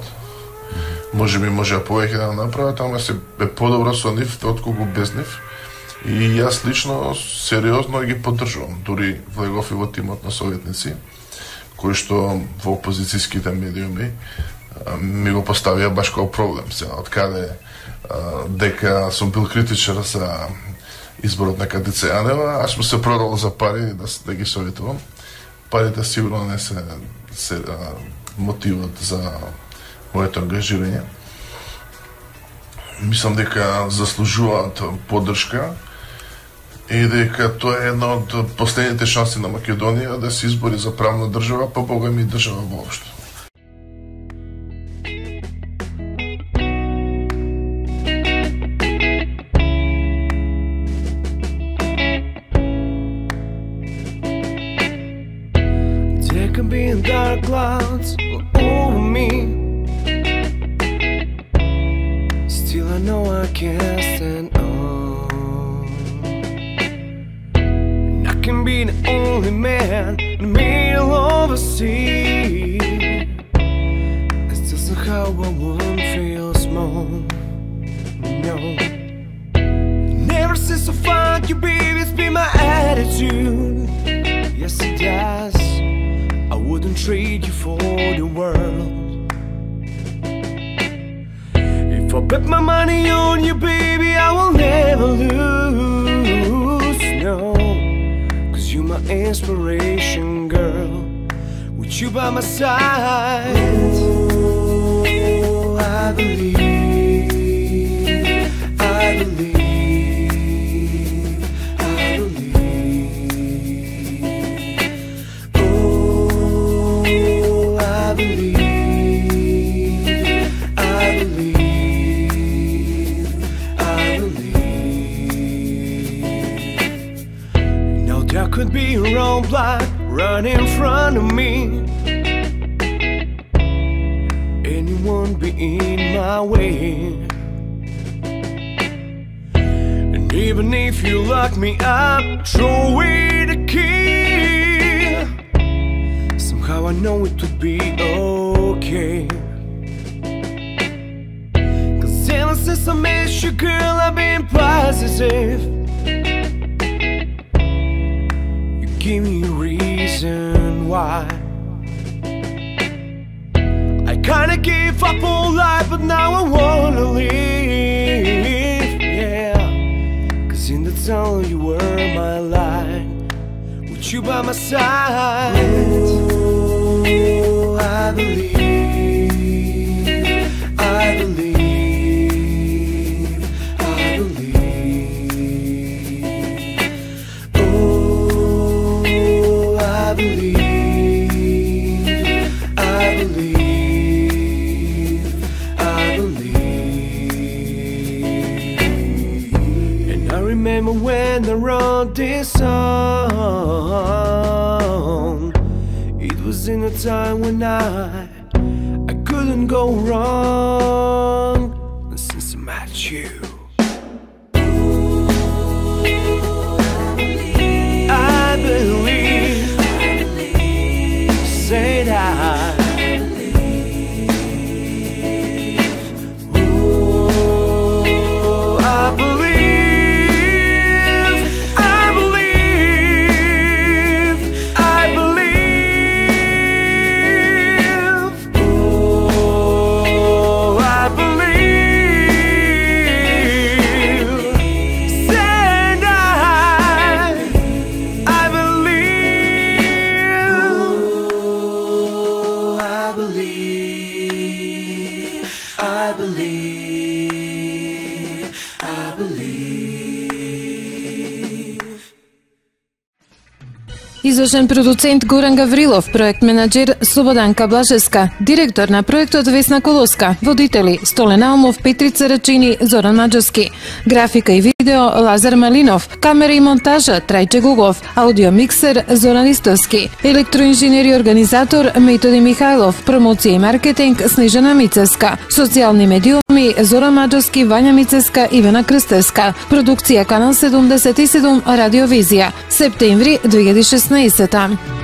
Може би може повеќе да направат, ама се е подобро со нив отколку без нив. И јас лично сериозно ги поддржувам. Дури влегов и во тимот на советници, кои што во опозицијските медиуми ми го поставија баш како проблем. Сега, од каде дека сум бил критичар за изборот на Катица Јанева, аз му се продал за пари да, да ги советувам. Парите сигурно не се, се а, мотивот за моето ангажирање. Мислам дека заслужуваат поддршка и дека тоа е една од последните шанси на Македонија да се избори за правна држава, па бога ми држава воопшто. There can be dark clouds over me. Still I know I can't stand on. And I can be the only man in the middle of a sea. And still somehow I won't feel small. No. Never since I found you, baby, it's been my attitude. Yes, it does. I wouldn't trade you for the world. If I bet my money on you, baby, I will never lose, no. Cause you're my inspiration, girl. With you by my side, oh, I believe, I believe, I believe. Oh, I believe, I believe. There could be a roadblock right in front of me. Anyone be in my way. And even if you lock me up, throw away the key. Somehow I know it would be okay. Cause ever since I met you, girl, I've been positive. Give me a reason why. I kinda gave up on life, but now I wanna live, yeah. Cause in the tunnel you were my light, with you by my side. Oh, I believe, I believe. I believe, I believe, I believe. And I remember when I wrote this song. It was in a time when I, I couldn't go wrong since I met you. I believe, say that. Извршен продуцент Горан Гаврилов, проект менаџер Слободанка Блажеска, директор на проектот Весна Колоска, водители Столен Алмов, Петрица Рачини, Зоран Маџарски, графика и видео Лазар Малинов, камера и монтажа Трајче Гугов, аудио миксер Зоран Истовски, електроинженер и организатор Методи Михајлов, промоција и маркетинг Снежана Мицеска, социјални медиуми Зоран Маџарски, Вања Мицеска, Ивана Крстевска, продукција Канал седумдесет и седум Радиовизија, септември две илјади и шеснаесета.